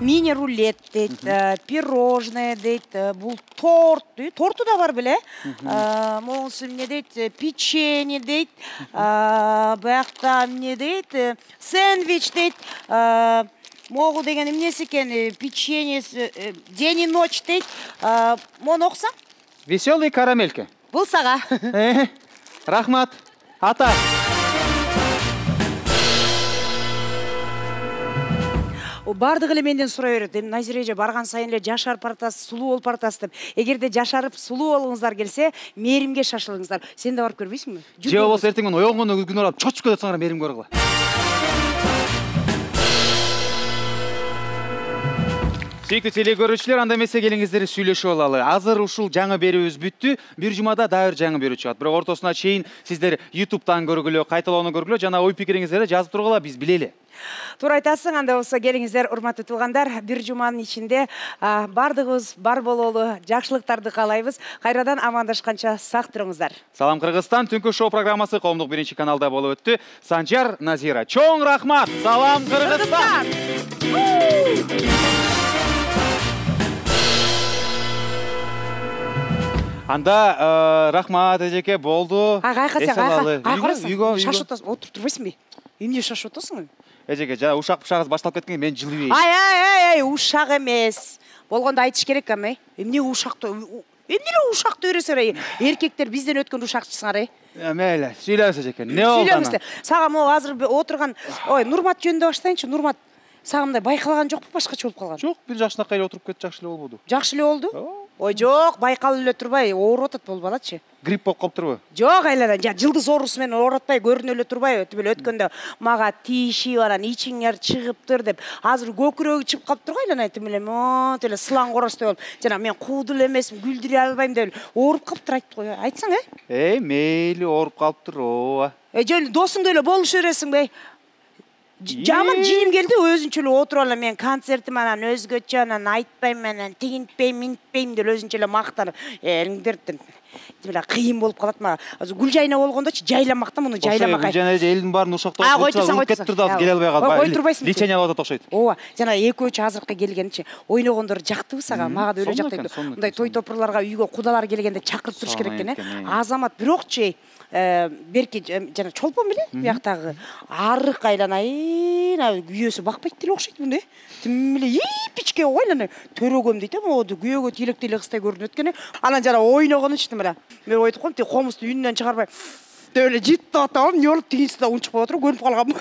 Мини-рулет дейт, пирожное дейт, бул торт дейт. Торту да бар беле? Могусу эмне дейт, печенье дейт, баягта эмне дейт, сэндвич дейт. Могу деген эмнеси экен, печенье, день и ночь дейт. Мону окусаң? Веселый карамелька. Бул сага. Рахмат. Ата. бардыгы эле менден сурай берет. Эми Назира эже барган сайын эле жашарып баратасыз, сулуу болуп баратасыз деп. Эгерде жашарып сулуу болгуңуздар келсе, мээримге шашылыңыздар. Сен да барып көрбөйсүңбү? Же болбосо эртең менен оёнгондо күн алып чочуп кетсеңер мээрим көргүла. Сүйүктүү телекөрүүчүлөр, анда эмесе келиңиздер сүйлөшүп алалы. Азыр ушул жаңы берүүбүз бүттү. Бир жумада дагы бир жаңы берүү чыгат. Бирок ортосуна чейин сиздер YouTube'дан көргүлө, кайталоону көргүлө, жана ой пикириңиздерди жазып тургула, биз билели. Туура айтасың, анда болсо келиңиздер, урматтуу туугандар. Бир жуманын ичинде бардыгыбыз бар бололу, жакшылыктарды каалайбыз. Кайрадан амандашканча сак туруңуздар. Салам Кыргызстан Түнкү шоу программасы коомдук биринчи каналда болуп өттү. Санжар, Назира. Чоң рахмат. Салам Кыргызстан. Анда рахмат эжеке, болду. Кайкырсың, шашып атасың, отуруп турбайсыңбы? Эмне шашып атасың? Эжеке, жана ушак-пушагыңыз башталып кеткен, мен жылыбейин. Ай, ушак эмес. Болгондо айтыш керек эми. Эмне ушакты? Эмне эле ушакты бересиңер? Эркектер бизден өткөн ушакчысыңар, Мейли, сүйлөбүз эжеке. Не болду анан? Сүйлөбүз. Сага могу азыр отурган, Нурмат жөнүндө баштайынчы. Нурмат, сага мындай байкалган жокпу, башкача болуп калган? Жок, бир жакшынакай эле отуруп кетти, жакшы эле болбоду. Жакшы эле болду? Ой, жок, байкалып эле турбай, ооруп атат болуп балачы. Грипп болуп калыптырбы? Жок, айладан, жылдыз оорусу менен ооратпай көрүнө эле турбайбы? Тип эле өткөндө мага тиишип анан ичиңер чыгыптыр деп. Азыр көкүрөгү чыгып калыптыр го айлана, тип эле монт эле сылаң коростой болуп. Жана мен куудул эмесмин, күлдүрө албайм деп ооруп калыптыр айтты го. Айтсаң, мейли ооруп калыптыр, ооба. Жөн досуңду эле болушу бересиңби? Жаман жиним келди, өзүнчө эле отуруп алам, мен концертим анан өзгөчө, анан айтпайм, анан тигинтпейм, минтпейм деп өзүнчө эле мактанып, элиңдердин. Тип кыйын болуп калат мага. Азыр Гүлжайна болгондочу жайламакта муну жайламак. Гүлжайна элдин баарын ушактап кетти да, келе албай калды. Кой турбайсың. Лечение алып атат окшойт. Ооба, жана экөөчү азыркы келгенчи ойногондор жактыбы сага? Мага да өлө жактайт. Мындай той топурларга үйгө кудалар келгенде чакырып туруш керек экен, Азамат бирокчу берки жана чолпон беле бияктагы арык айланайын, күйөөсү бакпайт деле окшойт мындай. Тим эле ипичке ойлана төрөгөм дейт, могу күйөөгө тийлектей кыздай көрүнөт экен. Анан жана ойногонучту мына. Мен ойлоп коем, тиги комузду үнүнөн чыгарбай деп эле життип атам, нөлүп тигинси да унчуп калып отуруп көнүп калгам.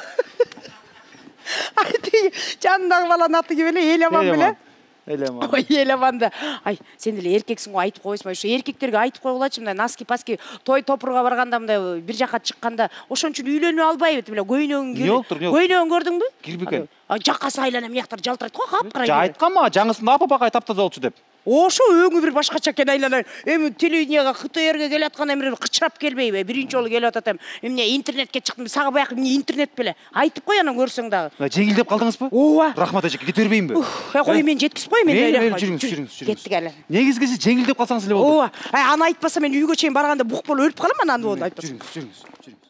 Ай, тиги жанындагы баланын аты ким эле? Элеман беле? Элеман. Ой, Элеман да. Ай, сен деле эркексиң го, айтып койбойсуңбу? Ошо эркектерге айтып койгулачы, мындай наски-паски той топурга барганда, мындай бир жака чыкканда, ошон үчүн үйлөнө албайбы, тип эле көйнөгүң кирип. Не болуптур? Көйнөгүн көрдүңбү? Кирбекен. Жакасы айлана мыяктар жалтырайт го, капкара. Айткан мага жаңысында апапакай таптаза болчу деп. Ошо өңү бир башкача экен айлана. Эми телевиденияга КТРге келаткан эмне кычырап келбейби? Биринчи жолу келип атат эм. Эмне интернетке чыктым. Сага баягы эмне интернет беле? Айтып кой анан көрсөң дагы. Жеңилдеп калдыңызбы? Ооба. Рахмат эжеке, кете бербейинби? Кой мен жеткизип коем энди. Жүрүңүз. Кеттик айлана. Негизги сиз жеңилдеп калсаңыз эле болду. Ооба. Аны айтпаса мен үйгө чейин барганда бук болуп өлүп калам анан айтпасам. Жүрүңүз.